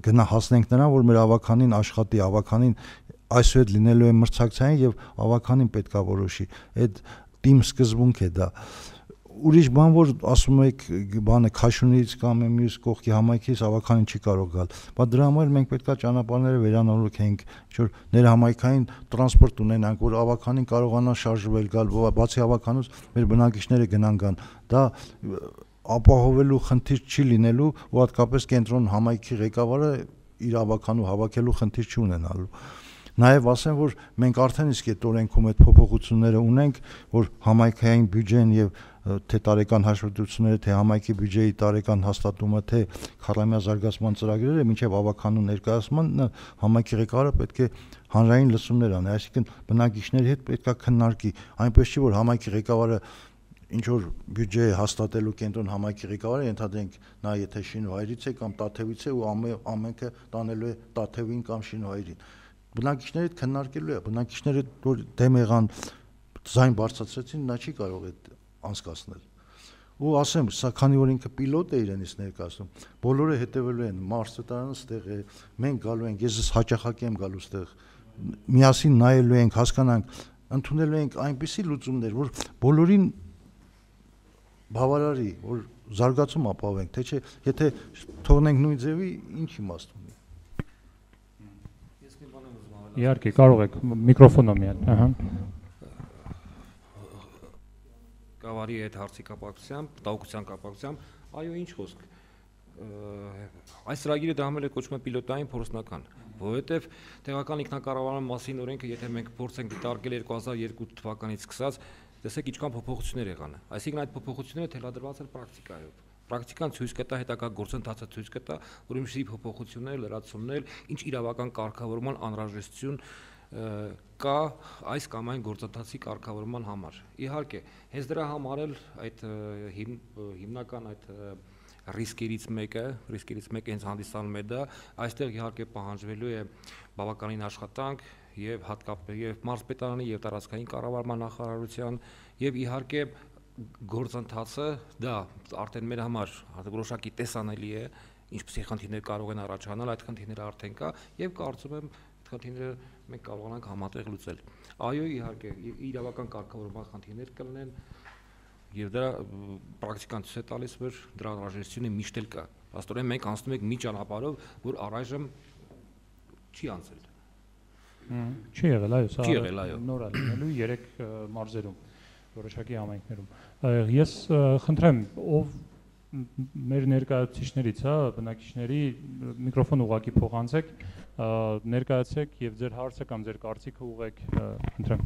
գնա հասնենք նրան, որ մեր ավականին աշխատի, ավականին այսուհետ լինելու է մրցակցային եւ ավականին պետքա որոշի։ Այդ թիմ սկզբունք է դա։ Ուրիշ բան, որ ասում եք, բանը Քաշունից կամ մյուս կողքի համայնքից ավականին չի կարող գալ, բայց դրա համար մենք պետքա ճանապարհները վերանորոգենք, ինչ-որ ներհամայնքային տրանսպորտ ունենանք, որ ավականին կարողանա շարժվել գալ, բացի ավականուց մեր բնակիչները գնան գան։ Դա ապահովելու խնդիր չի լինելու, ու հատկապես կենտրոն համայնքի ղեկավարը իր ավականու հավաքելու խնդիր չի ունենալու։ Նաև ասեմ, որ մենք արդեն իսկ այդ օրենքում այդ փոփոխությունները ունենք, որ համայնքային բյուջեն եւ թե տարեկան հաշվետվությունները, թե համայնքի բյուջեի տարեկան հաստատումը, թե քառամյա զարգացման ծրագրերը, մինչև ավականու ներկայացման համայնքի ղեկավարը պետք է հանրային լսումներ անի, այսինքն բնակիչների հետ պետք է քննարկի, այնպես չի, որ համայնքի ղեկավարը ինչ որ բյուջե հաստատելու կենտրոն համայնքի ղեկավարը ենթադրենք նա եթե շինվայրից է կամ Տաթևից է ու ամենքը տանելու է Տաթևին կամ շինվայրին։ Բնակիչները քննարկելու է, բնակիչները որ դեմ եղան ձայն բարձրացրեցին, նա չի կարող այդ անցկացնել։ Ու ասեմ, սա քանի որ ինքը պիլոտ է իրենից ներկայացնում, բոլորը հետևելու են, մարզպետարանը ստեղ է, մենք գալու ենք, ես հաճախակի եմ գալու ստեղ, միասին նայելու ենք, հասկանանք, ընդունելու ենք այնպիսի լուծումներ, որ բոլորին բավարարի, որ զարգացում ապահովենք, թե չէ, եթե թողնենք նույն ձևի, ինչ իմաստ ունի։ Իհարկե, կարող եք միկրոֆոնը միան, ահա։ Գավառի հետ հարցի կապակցությամբ, տաղուկության կապակցությամբ, այո, ինչ խոսք։ Այս ծրագիրը դրամել է կոչվում է պիլոտային փորձնական, որովհետև տեղական ինքնակառավարման մասին օրենքը, եթե մենք փորձենք դիտարկել երկու հազար երկու թվականից սկսած, տեսեք ինչքան փոփոխություններ եղան։ Այսինքն այդ փոփոխությունները թելադրված են պրակտիկայով։ Պրակտիկան ցույց կտա, հետագա գործընթացը ցույց կտա, որ ինչի փոփոխություններ, լրացումներ, ինչ իրավական կարգավորման անհրաժեշտություն կա այս կամ այն գործընթացի կարգավորման համար։ Իհարկե, հենց դրա համար էլ այդ հիմնական այդ ռիսկերից մեկը, ռիսկերից մեկը հենց հանդիսանում է դա, այստեղ իհարկե պահանջվելու է բավականին աշխատանք եւ հատկապես եւ մարզպետարանի եւ տարածքային կառավարման նախարարության եւ իհարկե գործընթացը դա արդեն մեր համար որոշակի տեսանելի է, ինչպիսի խնդիրներ կարող են առաջանալ, այդ խնդիրները արդեն կա եւ կարծում եմ այդ խնդիրները մենք կարողանանք համատեղ լուծել։ Այո, իհարկե, իրավական կարգավորման խնդիրներ կլինեն եւ դա պրակտիկան ցույց է տալիս, որ դրա անհրաժեշտությունը միշտ էլ կա։ Աստորեն մենք անցնում ենք մի ճանապարհով, որ առայժմ չի անցել։ Չի եղել, այո, սա չի եղել, այո։ Նոր է լինելու երեք մարզերում, որոշակի համայնքներում։ Ես խնդրեմ, ով մեր ներկայացուցիչներից, հա, բնակիչների միկրոֆոն ուղղակի փոխանցեք, ներկայացեք եւ ձեր հարցը կամ ձեր կարծիքը ուղղեք, խնդրեմ։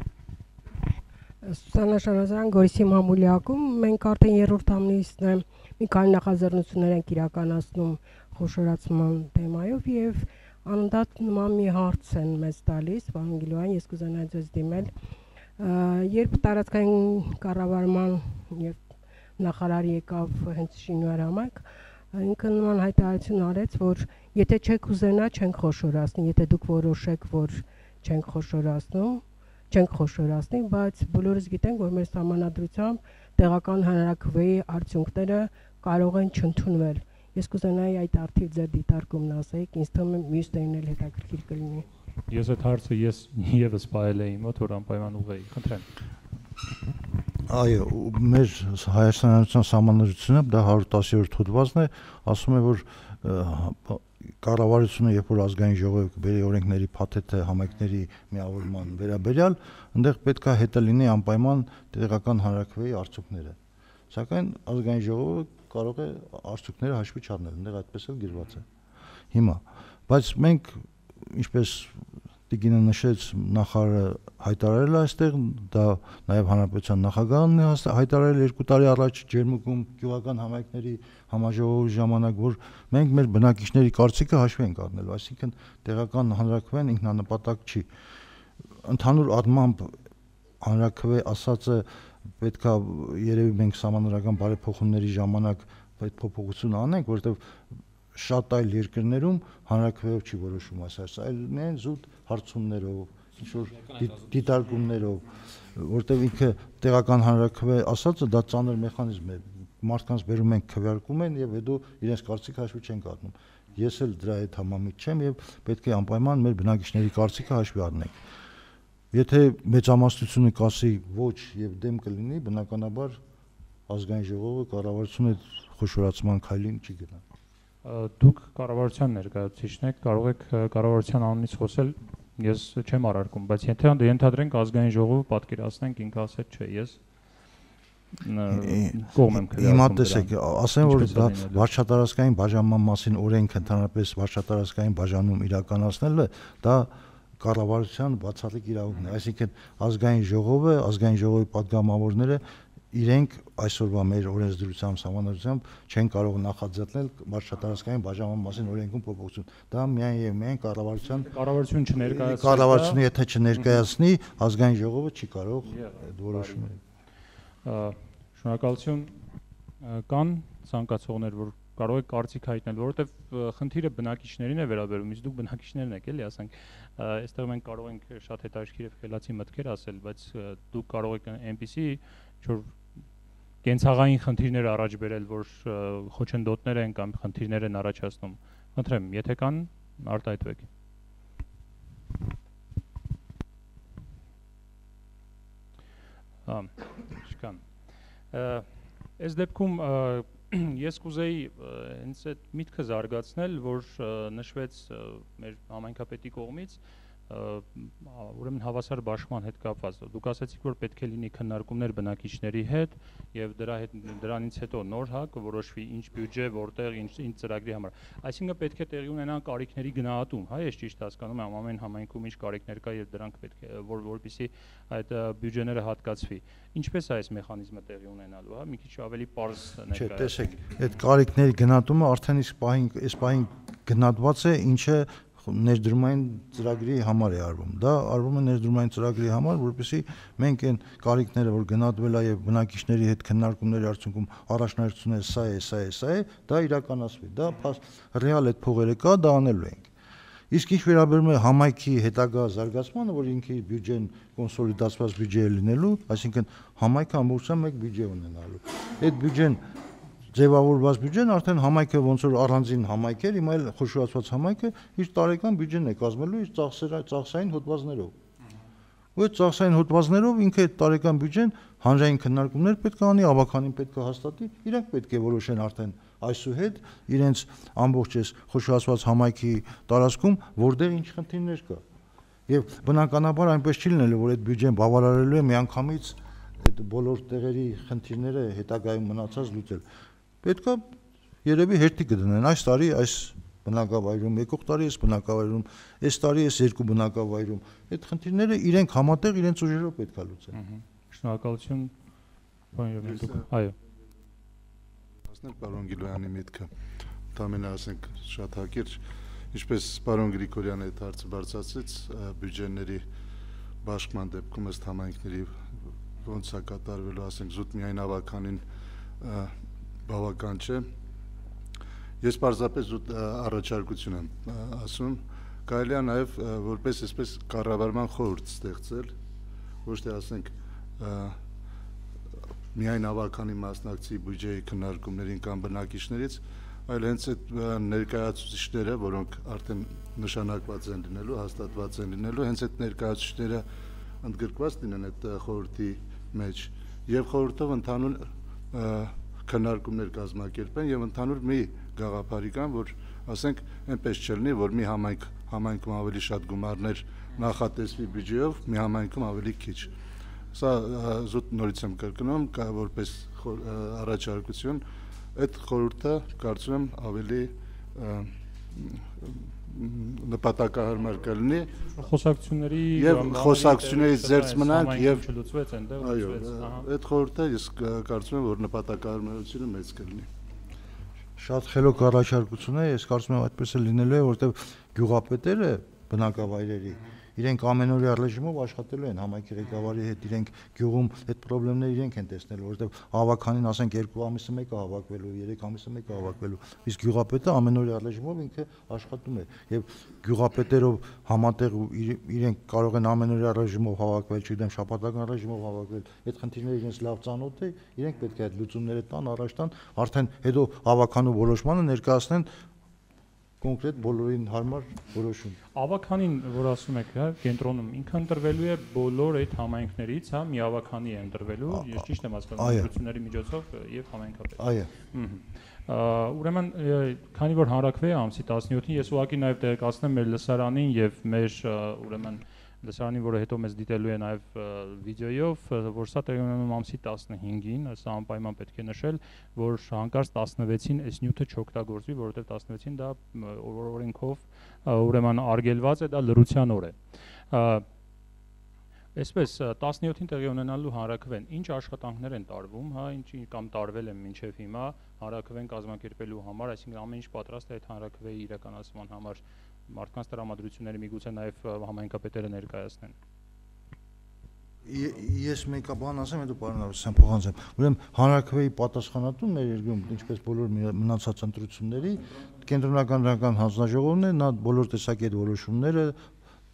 Սուսանա Շարազյան, Գորիսի մամուլիակում մենք արդեն երրորդ ամիսն է մի քանի նախաձեռնություններ ենք իրականացնում խոշորացման թեմայով եւ անդադ նման մի հարց են մեզ տալիս, պարոն Գիլոյան, ես կուզենայի ձեզ դիմել, երբ տարածքային կառավարման եւ նախարարի եկավ հենց Շինուար համայնք, ինքը նման հայտարարություն արեց, որ եթե չեք ուզենա, չենք խոշորացնի, եթե դուք որոշեք, որ չենք խոշորացնում, չենք խոշորացնի, բայց բոլորս գիտենք, որ մեր սահմանադրությամբ տեղական հանրաքվեի արդյունքները կարող են չընդունվել։ Ես կուզենայի այդ արդիվ ձեր դիտարկումն ասեիք, ինձ թվում է մյուս տերն էլ հետաքրքիր կլինի։ Ես այդ հարցը ես եւս պայել էի մոտ, որ անպայման ուղեի, խնդրեմ։ Այո, մեր Հայաստանի Հանրապետության սահմանադրությունը դա հարյուր տասներորդ հոդվածն է, ասում է, որ կառավարությունը երբ որ ազգային ժողովը բերի օրենքների փաթեթը համայնքների միավորման վերաբերյալ, այնտեղ պետք է հետը լինի անպայման տեղական հանրաքվեի արդյունքները։ Սակայն ազգային ժողովը կարող է արդյունքները հաշվի չառնել, այնտեղ այդպես էլ գրված է։ Հիմա, բայց մենք ինչպես Տիգինը նշեց, նախարարը հայտարարել է այստեղ, դա նաև հանրապետության նախագահն է հայտարարել երկու տարի առաջ Ջերմուկում գյուղական համայնքների համաժողովի ժամանակ, որ մենք մեր բնակիչների կարծիքը հաշվի ենք առնելու, այսինքն տեղական հանրաքվեն ինքնանպատակ չի։ Ընդհանուր առմամբ հանրաքվե ասածը պետքա երևի մենք սահմանադրական բարեփոխումների ժամանակ այդ փոփոխությունը անենք, որովհետև շատ այլ երկրներում հանրաքվեով չի որոշում այս հարցը, այլ միայն զուտ հարցումներով, ինչ-որ դիտարկումներով, որտեղ ինքը տեղական հանրաքվե ասածը դա ծանր մեխանիզմ է, մարդկանց բերում ենք քվեարկում են եւ հետո իրենց կարծիքը հաշվի չեն առնում։ Ես էլ դրա հետ համամիտ չեմ եւ պետք է անպայման մեր բնակիչների կարծիքը հաշվի առնենք։ Եթե մեծամասնությունը կասի ոչ եւ դեմ կլինի, բնականաբար ազգային ժողովը կառավարությունը խոշորացման քայլին չի գնա։ Դուք կառավարության ներկայացուցիչն եք, կարող եք կառավարության անունից խոսել, ես չեմ առարկում, բայց եթե ենթադրենք ազգային ժողովը պատկերացնենք, ինքը ասել չէ, ես կողմ եմ քվեարկում։ Հիմա տեսեք, ասեմ որ դա վարչատարածքային բաժանման մասին օրենք ընդհանրապես վարչատարածքային բաժանում իրականացնելը, դա կառավարության բացառիկ իրավունքն է, այսինքն ազգային ժողովը, ազգային ժողովի падգամավորները իրենք այսօրվա մեր օրենսդրությամբ համանadrությամբ չեն կարող նախաձեռնել վարչատարածքային բաժանման մասին օրենքում փոփոխություն։ Դա միայն եւ միայն կառավարության կառավարություն չներկայացնի, կառավարությունը եթե չներկայացնի, ազգային ժողովը չի կարող այդ որոշումը։ Շնորհակալություն, կան ցանկացողներ, որ կարող եք կարծիք հայտնել, որովհետև խնդիրը բնակիչներին է վերաբերում, իսկ դուք բնակիչներն եք, էլի, ասենք, այստեղ մենք կարող ենք շատ հետաքրքիր եւ խելացի մտքեր ասել, բայց դուք կարող եք այնպիսի ինչ-որ կենցաղային խնդիրներ առաջ բերել, որ խոչընդոտներ են կամ խնդիրներ են առաջացնում։ Խնդրեմ, եթե կան, արտահայտվեք։ Հա, չկան։ Այս դեպքում ես կուզեի հենց այդ միտքը զարգացնել, որ նշվեց մեր համայնքապետի կողմից, ուրեմն հավասար բաշխման հետ կապված։ Դուք ասացիք, որ պետք է լինի քննարկումներ բնակիչների հետ եւ դրա հետ դրանից հետո նոր հա կորոշվի ինչ բյուջե, որտեղ ինչ ինչ ծրագրի համար։ Այսինքն պետք է տեղի ունենա կարիքների գնահատում, հա, ես ճիշտ հասկանում եմ, ամեն համայնքում ինչ կարիքներ կա եւ դրանք պետք է որ որպեսզի այդ բյուջեները հատկացվի։ Ինչպես է այս մեխանիզմը տեղի ունենալու, հա, մի քիչ ավելի པարզ ներկայացնեք։ Չէ, տեսեք, այդ կարիքների գնահատումը արդեն իսկ պահին, այս պահին գնահատված է, ինչը ներդրումային ծրագրի համար է արվում։ Դա արվում է ներդրումային ծրագրի համար, որպեսզի մենք այն կարիքները, որ գնահատվել է եւ բնակիչների հետ քննարկումների արդյունքում առաջնահերթությունը սա է, սա է, սա է, դա իրականացվի։ Դա ռեալ այդ փողերը կա, դա անելու ենք։ Իսկ ինչ վերաբերում է համայնքի հետագա զարգացմանը, որ ինքի բյուջեն կոնսոլիդացված բյուջե է լինելու, այսինքն համայնքը ամբողջությամբ մեկ բյուջե ունենալու։ Այդ բյուջեն ձևավորված բյուջեն արդեն համայնքը ոնց որ առանձին համայնք էր, հիմա էլ խոշորացված համայնքը իր տարեկան բյուջեն է կազմելու իր ծախսային հոդվածներով։ Ու այդ ծախսային հոդվածներով ինքը այդ տարեկան բյուջեն հանրային քննարկումներ պետք է անի, ավականին պետք է հաստատի, իրանք պետք է որոշեն արդեն այսուհետ իրենց ամբողջ այս խոշորացված համայնքի տարածքում որտեղ ինչ խնդիրներ կա։ Եվ բնականաբար այնպես չի լինելու, որ այդ բյուջեն բավարարելու է միանգամից այդ բոլոր տեղերի խնդիրները հետագայում մնացած լուծել։ Պետք է երևի հերթի կդնեն այս տարի այս բնակավայրում, եկող տարի այս բնակավայրում, այս տարի այս երկու բնակավայրում։ Այդ խնդիրները իրենք համատեղ իրենց ուժերով պետք է լուծեն։ Շնորհակալություն, պարոն Երմենկով։ Այո։ Ասնել պարոն Գիլոյանի միտքը, դամենը ասենք շատ հակիրճ, ինչպես պարոն Գրիգորյանը այդ հարցը բարձրացրեց, բյուջեների բաշխման դեպքում ըստ համայնքների ոնց է կատարվելու, ասենք զուտ միայն ավականին բավական չէ։ Ես պարզապես զուտ առաջարկություն եմ ասում, կարելի է նաև որպես այսպես կառավարման խորհուրդ ստեղծել, ոչ թե ասենք միայն ավականի մասնակցի բյուջեի քննարկումներին կամ բնակիչներից, այլ հենց այդ ներկայացուցիչները, որոնք արդեն նշանակված են լինելու, հաստատված են լինելու, հենց այդ ներկայացուցիչները ընդգրկված լինեն այդ խորհրդի մեջ եւ խորհրդով ընդհանուր քննարկումներ կազմակերպեն եւ ընդհանուր մի գաղափարի կան, որ ասենք այնպես չլինի, որ մի համայնք համայնքում ավելի շատ գումարներ նախատեսվի բյուջեով, մի համայնքում ավելի քիչ։ Սա զուտ նորից եմ կրկնում, կա որպես առաջարկություն, այդ խորհուրդը կարծում եմ ավելի նպատակահարմար կլինի խոսակցությունների եւ խոսակցություններից զերծ մնանք եւ չլուծվեց այնտեղ այո այդ խորհուրդը ես կարծում եմ որ նպատակահարմարությունը մեծ կլինի շատ խելոք առաջարկություն է ես կարծում եմ այդպես է լինելու է որովհետեւ գյուղապետերը բնակավայրերի իրենք ամենօրյա ռեժիմով աշխատելու են համայնքի ղեկավարի հետ իրենք գյուղում այդ խնդիրները իրենք են տեսնելու որովհետև հավաքանին ասենք երկու ամիսը մեկը հավաքվելու երեք ամիսը մեկը հավաքվելու իսկ գյուղապետը ամենօրյա ռեժիմով ինքը աշխատում է եւ գյուղապետերով համատեղ իրենք կարող են ամենօրյա ռեժիմով հավաքվել չգիտեմ շաբաթական ռեժիմով հավաքվել այդ խնդիրները իրենց լավ ծանոթ է իրենք պետք է այդ լուծումները տան առաջ տան արդեն հետո հավաքանու որոշմանը ներկայացնեն կոնկրետ բոլորին հարմար որոշում։ Ավականին, որ ասում եք, հա, կենտրոնում ինքը ընտրվելու է բոլոր այդ համայնքներից, հա, մի ավականի է ընտրվելու, ես ճիշտ եմ հասկանում, ընտրությունների միջոցով եւ համայնքապետ։ Այո։ Ուրեմն, քանի որ հանրակրվե է ամսի տասնյոթին, ես ուղղակի նաեւ տեղեկացնեմ մեր լսարանին եւ մեր ուրեմն լսարանին, որը հետո մեզ դիտելու է նաև վիդեոյով, որ սա տեղի ունենում ամսի տասնհինգին, սա անպայման պետք է նշել, որ հանկարծ տասնվեցին այս նյութը չօգտագործվի, որովհետև տասնվեցին դա օրենքով ուրեմն արգելված է, դա լռության օր է։ Այսպես տասնյոթին տեղի ունենալու հանրակրվեն ինչ աշխատանքներ են տարվում, հա, ինչ կամ տարվել են մինչև հիմա հանրակրվեն կազմակերպելու համար, այսինքն ամեն ինչ պատրաստ է այդ հանրակրվեի իրականացման համար մարդկանց տրամադրությունները միգուցե նաև համայնքապետերը ներկայացնեն։ Ես մեկը բան ասեմ, հետո պարոն Ավսյան փոխանցեմ։ Ուրեմն հանրակրվեի պատասխանատուն մեր երկրում, ինչպես բոլոր մնացած ընտրությունների, կենտրոնական դրական հանձնաժողովն է, նա բոլոր տեսակի այդ որոշումները,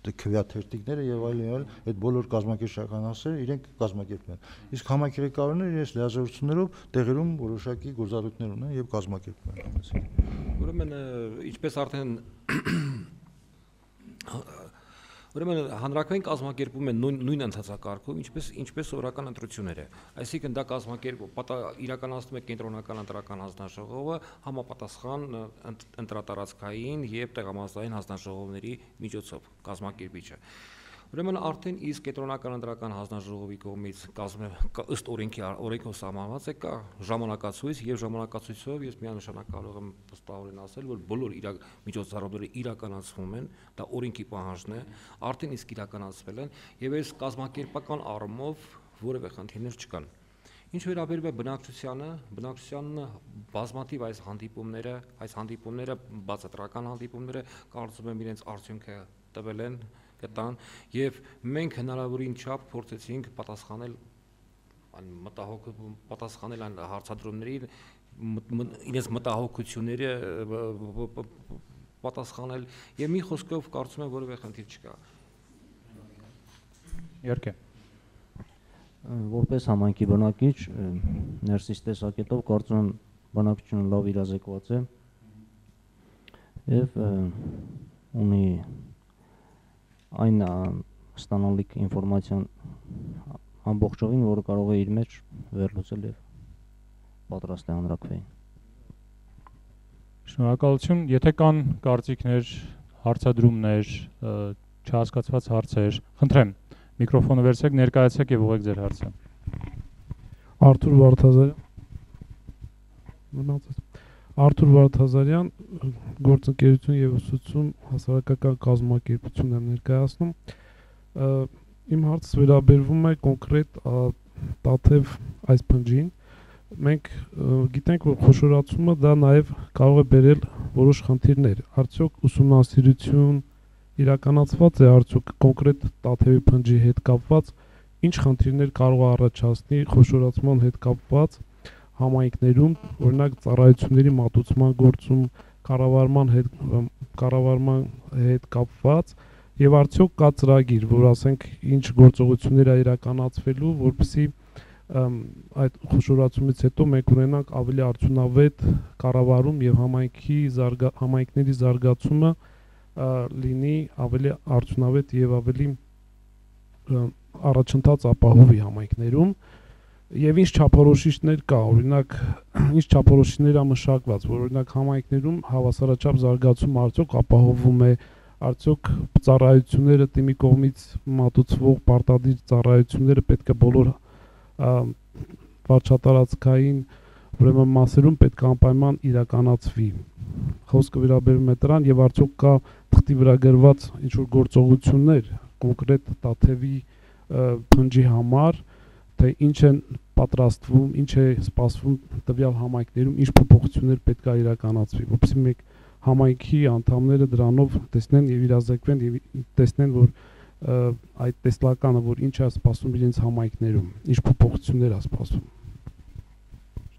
քվեաթերթիկները եւ այլն եւ այլն, այդ բոլոր կազմակերպչական հասցեները իրենք կազմակերպում են։ Իսկ համայնքի ղեկավարները իրենց լիազորություններով տեղերում որոշակի գործառույթներ ունեն եւ կազմակերպում են։ Ուրեմն ինչպես արդեն Ուրեմն հանրակրվեն կազմակերպում են նույն նույն ընթացակարգով, ինչպես ինչպես սովորական ընտրությունները։ Այսինքն դա կազմակերպ իրականացնում է կենտրոնական ընտրական հանձնաժողովը համապատասխան ընտրատարածքային եւ տեղամասային հանձնաժողովների միջոցով կազմակերպիչը։ Ուրեմն արդեն իսկ կենտրոնական ընտրական հանձնաժողովի կողմից ըստ օրենքի օրենքով սահմանված է կա ժամանակացույց եւ ժամանակացույցով ես միանշանակ կարող եմ վստահորեն ասել, որ բոլոր միջոցառումները իրականացվում են, դա օրենքի պահանջն է, արդեն իսկ իրականացվել են եւ այս կազմակերպական առումով որևէ խնդիրներ չկան։ Ինչ վերաբերում է բնակչությանը, բնակչությանը բազմաթիվ այս հանդիպումները, այս հանդիպումները բացատրական հանդիպումները կարծում եմ իրենց արդյունքը տվել են կտան եւ մենք հնարավորին չափ փորձեցինք պատասխանել մտահոգ պատասխանել այն հարցադրումներին իրենց մտահոգությունները պատասխանել եւ մի խոսքով կարծում եմ որևէ խնդիր չկա։ Իհարկե որպես համայնքի բնակիչ ներսից տեսակետով կարծում եմ բնակչությունը լավ իրազեկված է եւ ունի այն ստանալիք ինֆորմացիան ամբողջովին, որը կարող է իր մեջ վերլուծել եւ պատրաստ է հանրակրվեին։ Շնորհակալություն, եթե կան կարծիքներ, հարցադրումներ, չհասկացված հարցեր, խնդրեմ, միկրոֆոնը վերցրեք, ներկայացեք եւ ուղղեք ձեր հարցը։ Արթուր Վարդազարյան Մնացած Արթուր Վարդազարյան, գործընկերություն եւ ուսուցում հասարակական կազմակերպություն եմ ներկայացնում։ Իմ հարցը վերաբերվում է կոնկրետ Տաթև այս փնջին։ Մենք գիտենք, որ խոշորացումը դա նաեւ կարող է բերել որոշ խնդիրներ։ Արդյոք ուսումնասիրություն իրականացված է արդյոք կոնկրետ Տաթևի փնջի հետ կապված, ինչ խնդիրներ կարող է առաջացնի խոշորացման հետ կապված համայնքներում, օրինակ ծառայությունների մատուցման գործում, կառավարման հետ կառավարման հետ կապված եւ արդյոք կա ծրագիր, որ ասենք ինչ գործողություններ է իրականացվելու, որպեսզի այդ խոշորացումից հետո մենք ունենանք ավելի արդյունավետ կառավարում եւ համայնքի զարգա համայնքների զարգացումը լինի ավելի արդյունավետ եւ ավելի առաջընթաց ապահովի համայնքներում եւ ինչ չափորոշիչներ կա, օրինակ ինչ չափորոշիչներ է մշակված, որ օրինակ համայնքներում հավասարաչափ զարգացում արդյոք ապահովում է, արդյոք ծառայությունները թիմի կողմից մատուցվող պարտադիր ծառայությունները պետք է բոլոր վարչատարածքային ուրեմն մասերում պետք է անպայման իրականացվի։ Խոսքը վերաբերում է դրան եւ արդյոք կա թղթի վրա գրված ինչ որ գործողություններ կոնկրետ Տաթևի փնջի համար, թե ինչ են պատրաստվում, ինչ է սպասվում տվյալ համայնքներում, ինչ փոփոխություններ պետք է իրականացվի, որովհետեւ մենք համայնքի անդամները դրանով տեսնեն եւ իրազեկվեն եւ տեսնեն, որ այդ տեսլականը, որ ինչ է սպասվում իրենց համայնքներում, ինչ փոփոխություններ է սպասվում։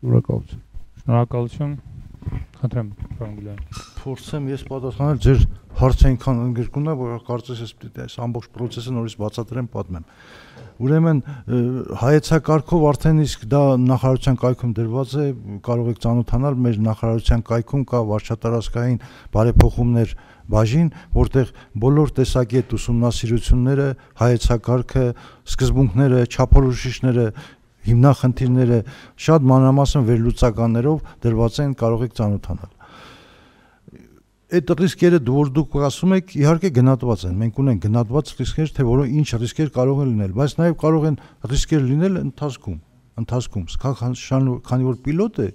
Շնորհակալություն։ Շնորհակալություն։ Խնդրեմ, պարոն Գյուլյան։ Փորձեմ ես պատասխանել ձեր հարցը այնքան ընդգրկուն է, որ կարծես ես պետք է այս ամբողջ process-ը նորից բացատրեմ, պատմեմ։ Ուրեմն հայեցակարգով արդեն իսկ դա նախարարության կայքում դրված է, կարող եք ծանոթանալ, մեր նախարարության կայքում կա վարչատարածքային բարեփոխումներ բաժին, որտեղ բոլոր տեսակետ ուսումնասիրությունները, հայեցակարգը, սկզբունքները, չափորոշիչները, հիմնախնդիրները շատ մանրամասն վերլուծականներով դրված են, կարող եք ծանոթանալ։ Այդ ռիսկերը որ դուք ասում եք, իհարկե գնահատված են։ Մենք ունենք գնահատված ռիսկեր, թե որը ինչ ռիսկեր կարող են լինել, բայց նաև կարող են ռիսկեր լինել ընթացքում, ընթացքում, քանի որ պիլոտ է,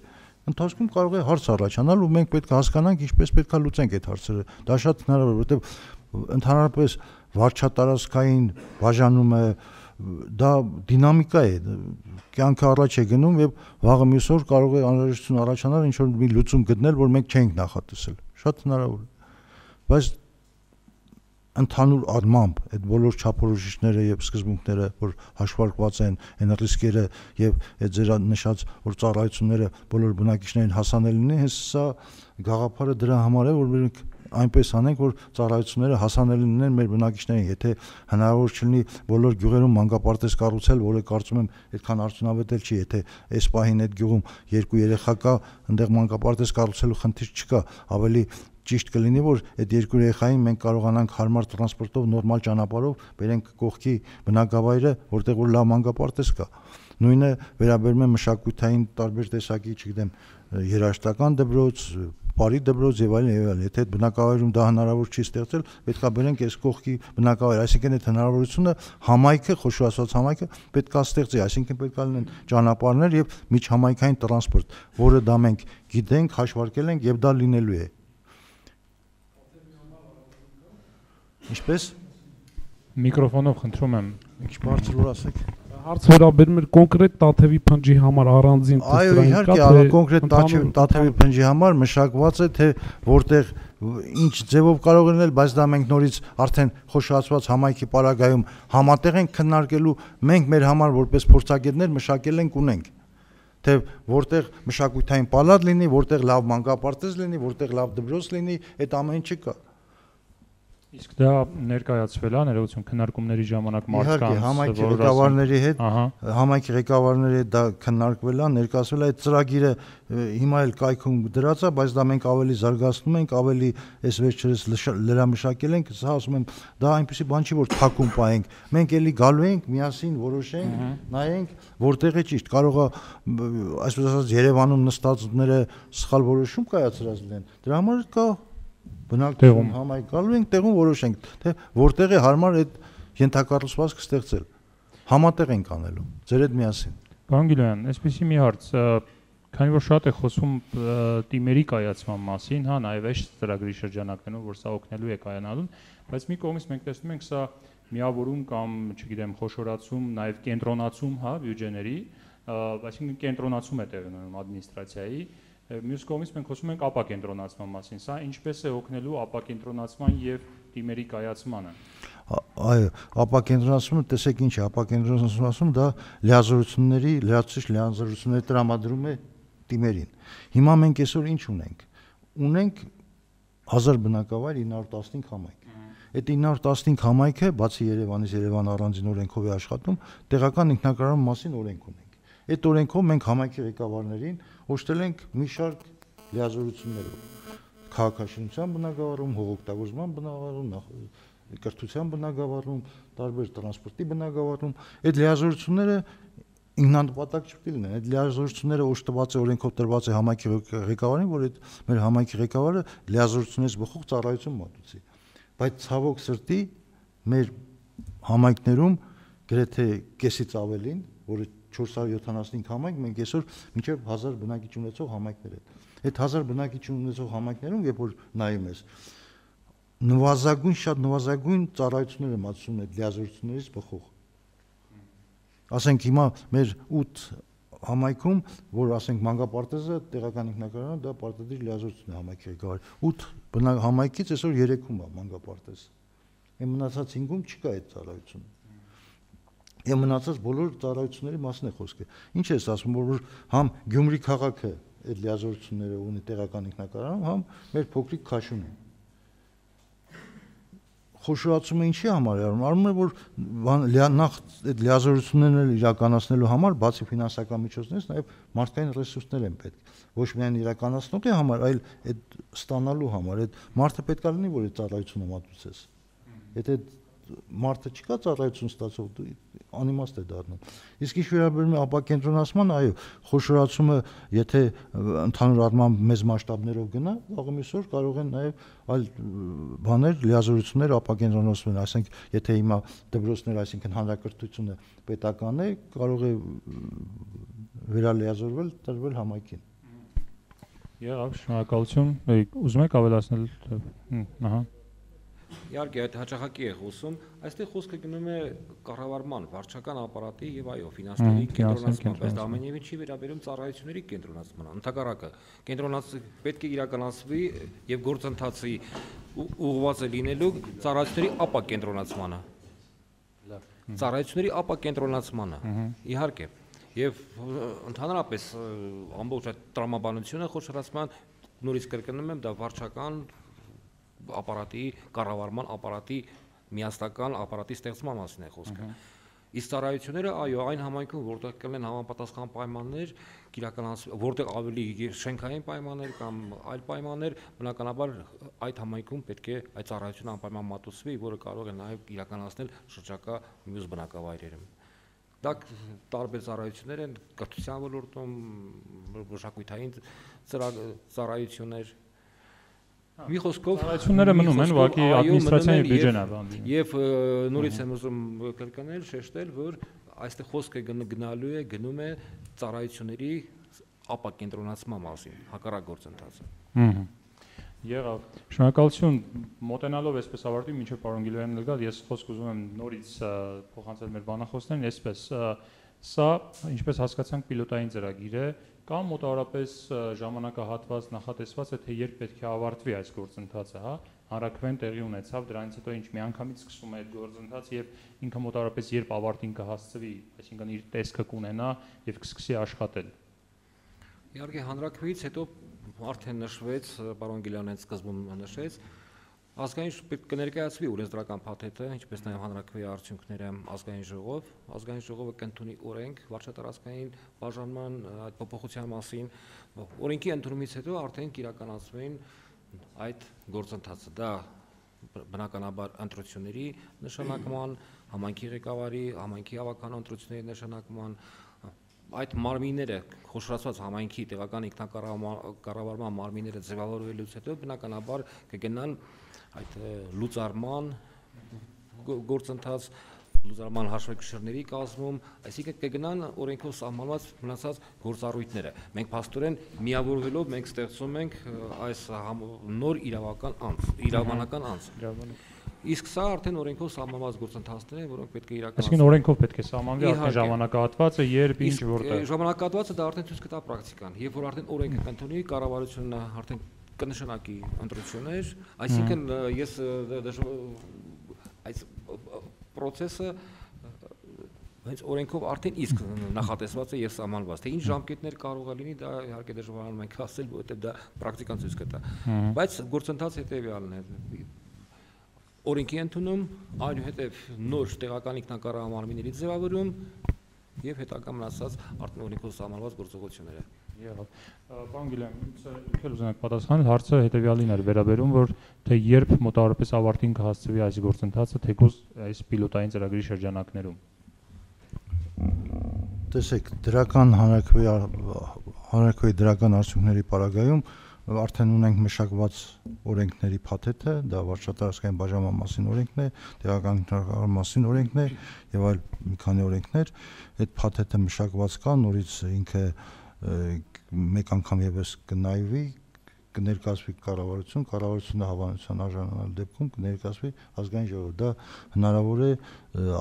ընթացքում կարող է հարց առաջանալ ու մենք պետք է հասկանանք ինչպես պետք է լուծենք այդ հարցերը։ Դա շատ հնարավոր է, որովհետև ընդհանրապես վարչատարածքային բաժանումը դա դինամիկա է, կյանքը առաջ է գնում եւ վաղը մյուս օր կարող է անհրաժեշտություն առաջանալ ինչ որ մի լուծում գտնել, որ մենք չենք նախատեսել։ Շատ հնարավոր է։ Բայց ընդհանուր առմամբ այդ բոլոր չափորոշիչները եւ սկզբունքները, որ հաշվարկված են, այն ռիսկերը եւ այդ ձեր նշած որ ծառայությունները բոլոր բնակիչներին հասանելի լինեն, հենց սա գաղափարը դրա համար է, որ մենք այնպես անենք, որ ծառայությունները հասանելի լինեն մեր բնակիչներին, եթե հնարավոր չլինի բոլոր գյուղերում մանկապարտեզ կառուցել, որը կարծում եմ այդքան արդյունավետ էլ չի, եթե այս պահին այդ գյուղում երկու երեխա կա, այնտեղ մանկապարտեզ կառուցելու խնդիր չկա, ավելի ճիշտ կլինի, որ այդ երկու երեխային մենք կարողանանք հարմար տրանսպորտով, նորմալ ճանապարհով բերենք կողքի բնակավայրը, որտեղ որ լավ մանկապարտեզ կա։ Նույնը վերաբերում է մշակութային տարբեր տեսակի, չգիտեմ, երաժշտական դպրոց, բարի դպրոց եւ այլն եւ այլն։ Եթե այդ բնակավայրում դա հնարավոր չի ստեղծել, պետք է բերենք այս կողքի բնակավայր, այսինքն այդ հնարավորությունը համայնքը, խոշորացված համայնքը պետք է ստեղծի, այսինքն պետք է լինեն ճանապարհներ եւ միջհամայնքային տրանսպորտ, որը դա մենք գիտենք, հաշվարկել ենք եւ դա լինելու է։ Ինչպես միկրոֆոնով խնդրում եմ, ինչ բարձր որ ասեք։ Հարց վերաբերում էր կոնկրետ Տաթևի փնջի համար առանձին այո, իհարկե, կոնկրետ Տաթևի փնջի համար մշակված է, թե որտեղ ինչ ձևով կարող լինել, բայց դա մենք նորից արդեն խոշորացված համայնքի պարագայում համատեղ ենք քննարկելու, մենք մեր համար որպես փորձագետներ մշակել ենք ունենք, թե որտեղ մշակութային պալատ լինի, որտեղ լավ մանկապարտեզ լինի, որտեղ լավ դպրոց լինի, այդ ամեն ինչը կա։ Իսկ դա ներկայացվել է ներողություն քննարկումների ժամանակ մարդկանց համայնքի ղեկավարների հետ, համայնքի ղեկավարների հետ դա քննարկվել է, ներկայացվել է այդ ծրագիրը հիմա էլ կայքում դրած է, բայց դա մենք ավելի զարգացնում ենք, ավելի այս վերջերս լրամշակել ենք, սա ասում եմ, դա այնպեսի բան չի, որ թաքուն պահենք։ Մենք էլի գալու ենք, միասին որոշենք, նայենք, որտեղ է ճիշտ, կարող է այսպես ասած Երևանում նստածները սխալ որոշում կայացրած լինեն։ Դրա համար կա բնակչություն համայնք գալու ենք, տեղում որոշենք, թե որտեղ է հարմար այդ ենթակառուցվածքը ստեղծել։ Համատեղ ենք անելու, ձեր հետ միասին։ Պարոն Գյուլյան, այսպեսի մի հարց, քանի որ շատ է խոսում թիմերի կայացման մասին, հա, նաև այս ծրագրի շրջանակներում, որ սա օգնելու է կայանալուն, բայց մի կողմից մենք տեսնում ենք սա միավորում կամ, չգիտեմ, խոշորացում, նաև կենտրոնացում, հա, բյուջեների, այսինքն կենտրոնացում է տեղի ունենում ադմինիստրացիայի։ Մյուս կողմից մենք խոսում ենք ապակենտրոնացման մասին, սա ինչպես է օգնելու ապակենտրոնացման եւ թիմերի կայացմանը։ Այո, ապակենտրոնացումը, տեսեք ինչ է, ապակենտրոնացումը դա լիազորությունների, լրացուցիչ լիազորությունների տրամադրում է թիմերին։ Հիմա մենք այսօր ինչ ունենք։ Ունենք հազար բնակավայր ինը հարյուր տասնհինգ համայնք։ Այդ ինը հարյուր տասնհինգ համայնքը, բացի Երևանից, Երևան առանձին օրենքով է աշխատում, տեղական ինքնակառավարման մասին օրենք ունենք։ Այդ օրենքով մենք համայնքի ղեկավարներին օժտել ենք մի շարք լիազորություններով, քաղաքաշինության բնագավառում, հողօգտագործման բնագավառում, կրթության բնագավառում, տարբեր տրանսպորտի բնագավառում, այդ լիազորությունները ինքնանպատակ չպետք է լինեն, այդ լիազորությունները օժտված է օրենքով տրված է համայնքի ղեկավարին, որ այդ մեր համայնքի ղեկավարը լիազորությունից բխող ծառայություն մատուցի, բայց ցավոք սրտի մեր համայնքներում գրեթե կեսից ավելին, որը չորս հարյուր յոթանասունհինգ համայնք, մենք այսօր մինչև հազար բնակիչ ունեցող համայնքներ են։ Այդ հազար բնակիչ ունեցող համայնքներում, երբ որ նայում ես, նվազագույն շատ նվազագույն ծառայություններ են մատուցում այդ լիազորություններից բխող։ Ասենք հիմա մեր ութ համայնքում, որ ասենք մանկապարտեզը տեղական ինքնակառավարումը դա պարտադիր լիազորություն է համայնքի ղեկավարի։ ութ համայնքից այսօր երեքում է մանկապարտեզ։ Այն մնացած հինգում չկա այդ ծառայությունը։ Եվ մնացած բոլոր ծառայությունների մասին է խոսքը։ Ինչ ես ասում, որ համ Գյումրի քաղաքը այդ լիազորությունները ունի տեղական ինքնակառավարում, համ մեր փոքրիկ Քաշունը։ Խոշորացումը ինչի համար է արվում, արվում է, որ նախ այդ լիազորություններն իրականացնելու համար բացի ֆինանսական միջոցներից նաև մարդկային ռեսուրսներ են պետք, ոչ միայն իրականացնողի համար, այլ այդ ստանալու համար, այդ մարդը պետք է լինի, որ այդ ծառայությունը մատուցես։ Եթե մարդը չկա ծառայություն ստացող, անիմաստ է դառնում։ Իսկ ինչ վերաբերում է ապակենտրոնացման, այո, խոշորացումը, եթե ընդհանուր առմամբ մեծ մասշտաբներով գնա, վաղը միսօր կարող են նաև այլ բաներ, լիազորություններ ապակենտրոնացնել, այսինքն, եթե հիմա դպրոցներ, այսինքն հանրակրթությունը պետական է, կարող է վերալիազորվել, տրվել համայնքին։ Եղավ, շնորհակալություն։ Ուզում եք ավելացնել, ահա։ Իհարկե, այդ հաճախակի է խոսում, այստեղ խոսքը գնում է կառավարման, վարչական ապարատի եւ այո, ֆինանսների կենտրոնացման, բայց դա ամենևին չի վերաբերում ծառայությունների կենտրոնացմանը։ Ընդհակառակը, կենտրոնացումը պետք է իրականացվի եւ գործընթացի ուղղված է լինելու ծառայությունների ապակենտրոնացմանը։ Ծառայությունների ապակենտրոնացմանը, իհարկե, եւ ընդհանրապես ամբողջ այդ տրամաբանությունը խոշորացման նորից կրկնում եմ, դա վարչական ապարատի, կառավարման ապարատի, միասնական ապարատի ստեղծման մասին է խոսքը։ Իսկ ծառայությունները, այո, այն համայնքում, որտեղ կլինեն համապատասխան պայմաններ, որտեղ ավելի շենքային պայմաններ կամ այլ պայմաններ, բնականաբար այդ համայնքում պետք է այդ ծառայությունը անպայման մատուցվի, որը կարող է նաև իրականացնել շրջակա մյուս բնակավայրերում։ Դա տարբեր ծառայություններ են, կրթության ոլորտում, մշակութային ծառայություններ։ Մի խոսքով ծառայությունները մնում են, ուղղակի ադմինիստրացիան եւ բյուջեն է բանդի։ Եվ նորից եմ ուզում կրկնել, շեշտել, որ այստեղ խոսքը գնալու է, գնում է ծառայությունների ապակենտրոնացման մասին, հակառակ գործընթացը։ Եղավ։ Շնորհակալություն, մոտենալով այսպես ավարտի, մինչև պարոն Գիլոյանն գալ, ես խոսք ուզում եմ նորից փոխանցել մեր բանախոսներին, այսպես սա, ինչպես հասկացանք, պիլոտային ծրագիր է, կամ մոտավորապես ժամանակահատված նախատեսված է, թե երբ պետք է ավարտվի այս գործընթացը, հա, հանրաքվեն տեղի ունեցավ, դրանից հետո ինչ միանգամից սկսում է այդ գործընթացը եւ ինքը մոտավորապես երբ ավարտին կհասցվի, այսինքն իր տեսքը կունենա եւ կսկսի աշխատել։ Իհարկե հանրաքվեից հետո արդեն նշվեց, պարոն Գիլյանն սկզբում նշեց, ազգային պետք կներկայացվի օրենսդրական փաթեթը, ինչպես նաև հանրաքվեի արդյունքները ազգային ժողով, ազգային ժողովը կընդունի օրենք վարչատարածքային բաժանման այդ փոփոխության մասին, օրենքի ընդունումից հետո արդեն կիրականացվեն այդ գործընթացը, դա բնականաբար ընտրությունների նշանակման, համայնքի ղեկավարի, համայնքի ավականո ընտրությունների նշանակման, այդ մարմինները խոշորացված համայնքի տեղական ինքնակառավարման մարմինները ձևավորվելուց հետո բնականաբար կգնան այդ լուծարման գործընթաց, լուծարման հաշվեկշիռների կազմում, այսինքն կգնան օրենքով սահմանված մնացած գործառույթները։ Մենք փաստորեն միավորվելով մենք ստեղծում ենք այս նոր իրավական անձ, իրավաբանական անձ։ Իսկ սա արդեն օրենքով սահմանված գործընթացներ են, որոնք պետք է իրականացվեն։ Այսինքն օրենքով պետք է սահմանվի արդեն ժամանակահատվածը, երբ ինչ որտեղ։ Ժամանակահատվածը դա արդեն ցույց կտա պրակտիկան, երբ որ արդեն օրենքը կընդունի, կառավարությունը արդեն կնշանակի ընտրություններ, այսինքն ես այս process-ը հենց օրենքով արդեն իսկ նախատեսված է եւ սահմանված, թե ինչ ժամկետներ կարող է լինի, դա իհարկե դժվարանում ենք ասել, որովհետեւ դա պրակտիկան ցույց կտա։ Բայց գործընթացը հետեւյալն է։ Օրենքի ընդունում, այնուհետև նոր տեղական ինքնակառավարման մարմինների ձևավորում, եւ հետագա մնացած արտոնիկով սահմանված գործողությունները։ Եղավ։ Պարոն Գիլյան, ինձ էլ ուզենակ պատասխանել, հարցը հետեւյալին էր վերաբերում, որ թե երբ մոտավորապես ավարտին կհասցվի այս գործընթացը, թեկուզ այս պիլոտային ծրագրի շրջանակներում։ Տեսեք, դրական հանրակրվեի հանրակրվեի դրական արդյունքների պարագայում արդեն ունենք մշակված օրենքների փաթեթը, դա վարչատարածքային բաժանման մասին օրենքն է, տեղական ինտեգրացիայի մասին օրենքն է եւ այլ մի քանի օրենքներ, այդ փաթեթը մշակված կա, նորից ինքը մեկ անգամ եւս կնայվի, կներկայացվի կառավարություն, կառավարությունը հավանության արժանանալ դեպքում կներկայացվի ազգային ժողով, դա հնարավոր է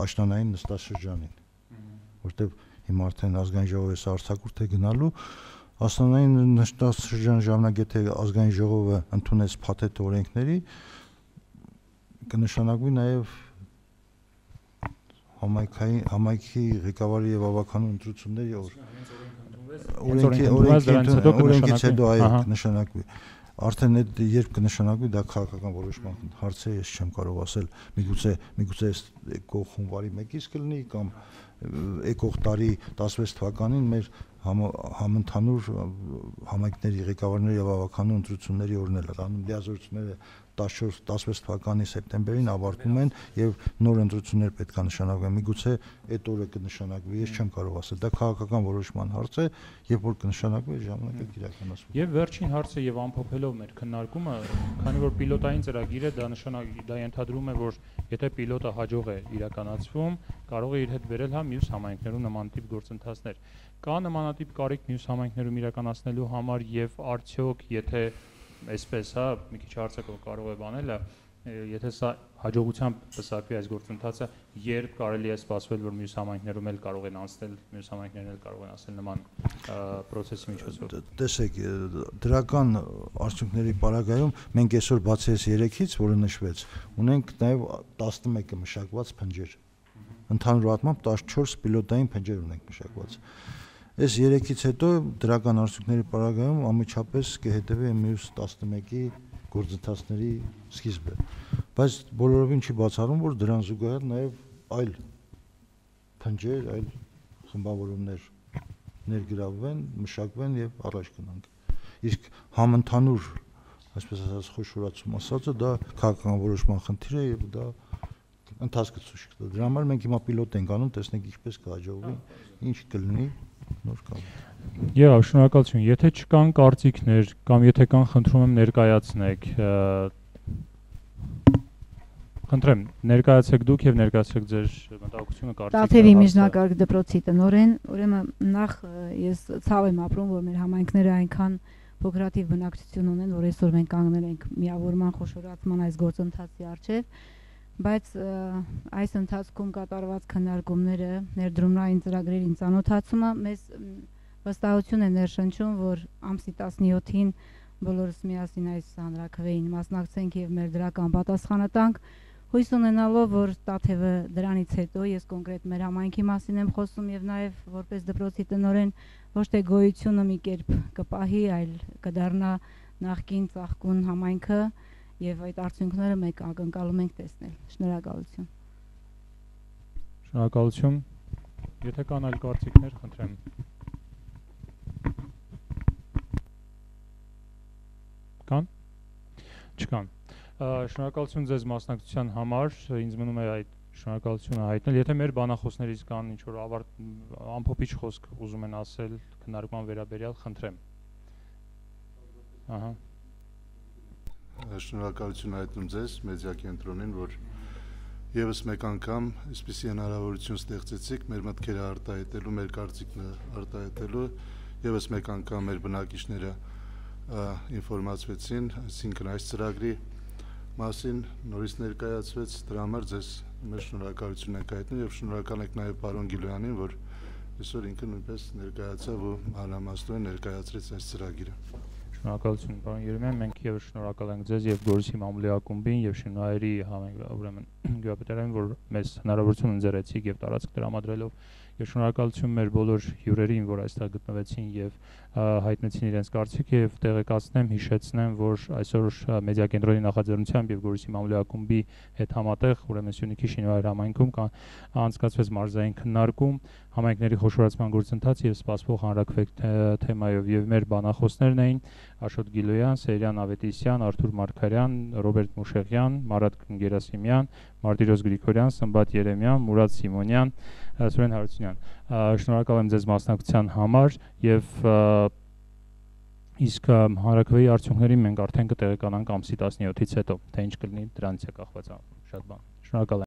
աշնանային նստաշրջանին, որտեղ հիմա արդեն ազգային ժողովի արտակուրդ է գնալու, աշնանային նստաշրջան ժամանակ եթե ազգային ժողովը ընդունեց փաթեթ օրենքների, կնշանակվի նաեւ համայնքային համայնքի ղեկավարի եւ ավականու ընտրությունների օր օրենքի օրենքից հետո այո կնշանակվի արդեն այդ երբ կնշանակվի դա քաղաքական որոշման հարց է ես չեմ կարող ասել միգուցե միգուցե եկող հունվարի մեկից կլինի կամ եկող տարի տասնվեց թվականին մեր համընդհանուր համայնքների ղեկավարների եւ ավականու ընտրությունների օրն էլ անում լիազորությունները տասնչորս տասնվեց թվականի սեպտեմբերին ավարտվում են եւ նոր ընտրություններ պետք է նշանակվեն միգուցե այդ օրը կնշանակվի ես չեմ կարող ասել դա քաղաքական որոշման հարց է երբ որ կնշանակվի ժամանակը իրականացվի եւ վերջին հարցը եւ ամփոփելով մեր քննարկումը քանի որ պիլոտային ծրագիրը դա նշանակ դա ենթադրում է որ եթե պիլոտը հաջող է իրականացվում կարող է իր հետ բերել հա մյուս համայնքներում նմանատիպ գործընթացներ կա նմանատիպ կարիք մյուս համայնքներում իրականացնելու համար եւ արդյոք եթե այսպես հա մի քիչ հարցը կարող է բանել եթե սա հաջողությամբ պսակվի այս գործընթացը երբ կարելի է սպասվել որ մյուս համայնքներում էլ կարող են անցնել մյուս համայնքներն էլ կարող են անցնել նման process-ի միջոցով տեսեք դրական արդյունքների պարագայում մենք այսօր բացի այս երեքից որը նշվեց ունենք նաև տասնմեկը մշակված փնջեր ընդհանուր առմամբ տասնչորս պիլոտային փնջեր ունենք մշակված Այս երեքից հետո դրական արդյունքների պարագայում ամիջապես կհետևի մյուս տասնմեկի գործընթացների սկիզբը բայց բոլորովին չի բացառում որ դրան զուգահեռ նաև այլ փնջեր, այլ խմբավորումներ ներգրավվեն, մշակվեն եւ առաջ գնանք իսկ համընդհանուր այսպես ասած խոշորացում ասածը դա քաղաքական որոշման խնդիր է եւ դա ընթացքը ցույց կտա դրա համար մենք հիմա պիլոտ ենք անում տեսնենք ինչպես կհաջողվի ինչ կլինի նոր կամ Եվ շնորհակալություն եթե չկան կարծիքներ կամ եթե կան խնդրում եմ ներկայացնեք Խնդրեմ ներկայացեք դուք եւ ներկայացրեք ձեր մտահոգությունը կարծիքը Տաթևի միջնակարգ դպրոցի տնօրեն ուրեմն նախ ես ցավ եմ ապրում որ մեր համայնքները այնքան փոքրաթիվ բնակչություն ունեն որ այսօր մենք կանգնել ենք միավորման խոշորացման այս գործընթացի առջև բայց այս ընթացքում կատարված քննարկումները ներդրումային ծրագրերին ծանոթացումը մեզ վստահություն է ներշնչում որ ամսի տասնյոթին բոլորս միասին այս հանրաքվեին մասնակցենք եւ մեր դրական պատասխանը տանք հույս ունենալով որ Տաթևը դրանից հետո ես կոնկրետ մեր համայնքի մասին եմ խոսում եւ նաեւ որպես դպրոցի տնօրեն ոչ թե գոյությունը մի կերպ կպահի այլ կդառնա նախկին ծաղկուն համայնքը Եվ այդ արդյունքները մենք ակնկալում ենք տեսնել։ Շնորհակալություն։ Շնորհակալություն։ Եթե կան այլ կարծիքներ, խնդրեմ։ Կան։ Չկան։ Շնորհակալություն ձեզ մասնակցության համար, ինձ մնում է այդ շնորհակալությունը հայտնել։ Եթե մեր բանախոսներից կան ինչ որ ավարտ ամփոփիչ խոսք ուզում են ասել քննարկման վերաբերյալ, խնդրեմ։ Ահա Շնորհակալություն հայտնում ձեզ մեդիա կենտրոնին, որ եւս մեկ անգամ այսպիսի հնարավորություն ստեղծեցիք մեր մտքերը արտահայտելու, մեր կարծիքները արտահայտելու, եւս մեկ անգամ մեր բնակիչները ինֆորմացվեցին, այսինքն այս ծրագրի մասին նորից ներկայացվեց, դրա համար ձեզ մեր շնորհակալություն ենք հայտնում եւ շնորհակալ ենք նաեւ պարոն Գիլյանին, որ այսօր ինքը նույնպես ներկայացավ ու մանրամասնորեն ներկայացրեց այս ծրագիրը։ Շնորհակալություն պարոն Երեմյան, մենք եւս շնորհակալ ենք ձեզ եւ Գորիսի մամուլի ակումբին եւ Շինվայրի ուրեմն գյուղապետարին, որ մեզ հնարավորություն ընձեռեցիք եւ տարածք տրամադրելով եւ շնորհակալություն մեր բոլոր հյուրերին, որ այստեղ գտնվեցին եւ հայտնեցին իրենց կարծիքը եւ տեղեկացնեմ, հիշեցնեմ, որ այսօր մեդիա կենտրոնի նախաձեռնությամբ եւ Գորիսի մամուլի ակումբի հետ համատեղ ուրեմն Սյունիքի Շինվայր համայնքում անցկացվեց մարզային քննարկում համայնքների խոշորացման գործընթաց եւ սպասվող հանրաքվե թեմայով եւ մեր բանախոսներն էին Աշոտ Գիլոյան, Սերյան Ավետիսյան, Արթուր Մարգարյան, Ռոբերտ Մուշեղյան, Մարատ Գերասիմյան, Մարտիրոս Գրիգորյան, Սմբատ Երեմյան, Մուրադ Սիմոնյան, Սուրեն Հարությունյան։ Շնորհակալ եմ ձեզ մասնակցության համար եւ իսկ հանրաքվեի արդյունքներին մենք արդեն կտեղեկանանք ամսի տասնյոթից հետո, թե ինչ կլինի դրանից է կախված շատ բան։ Շնորհակալ եմ։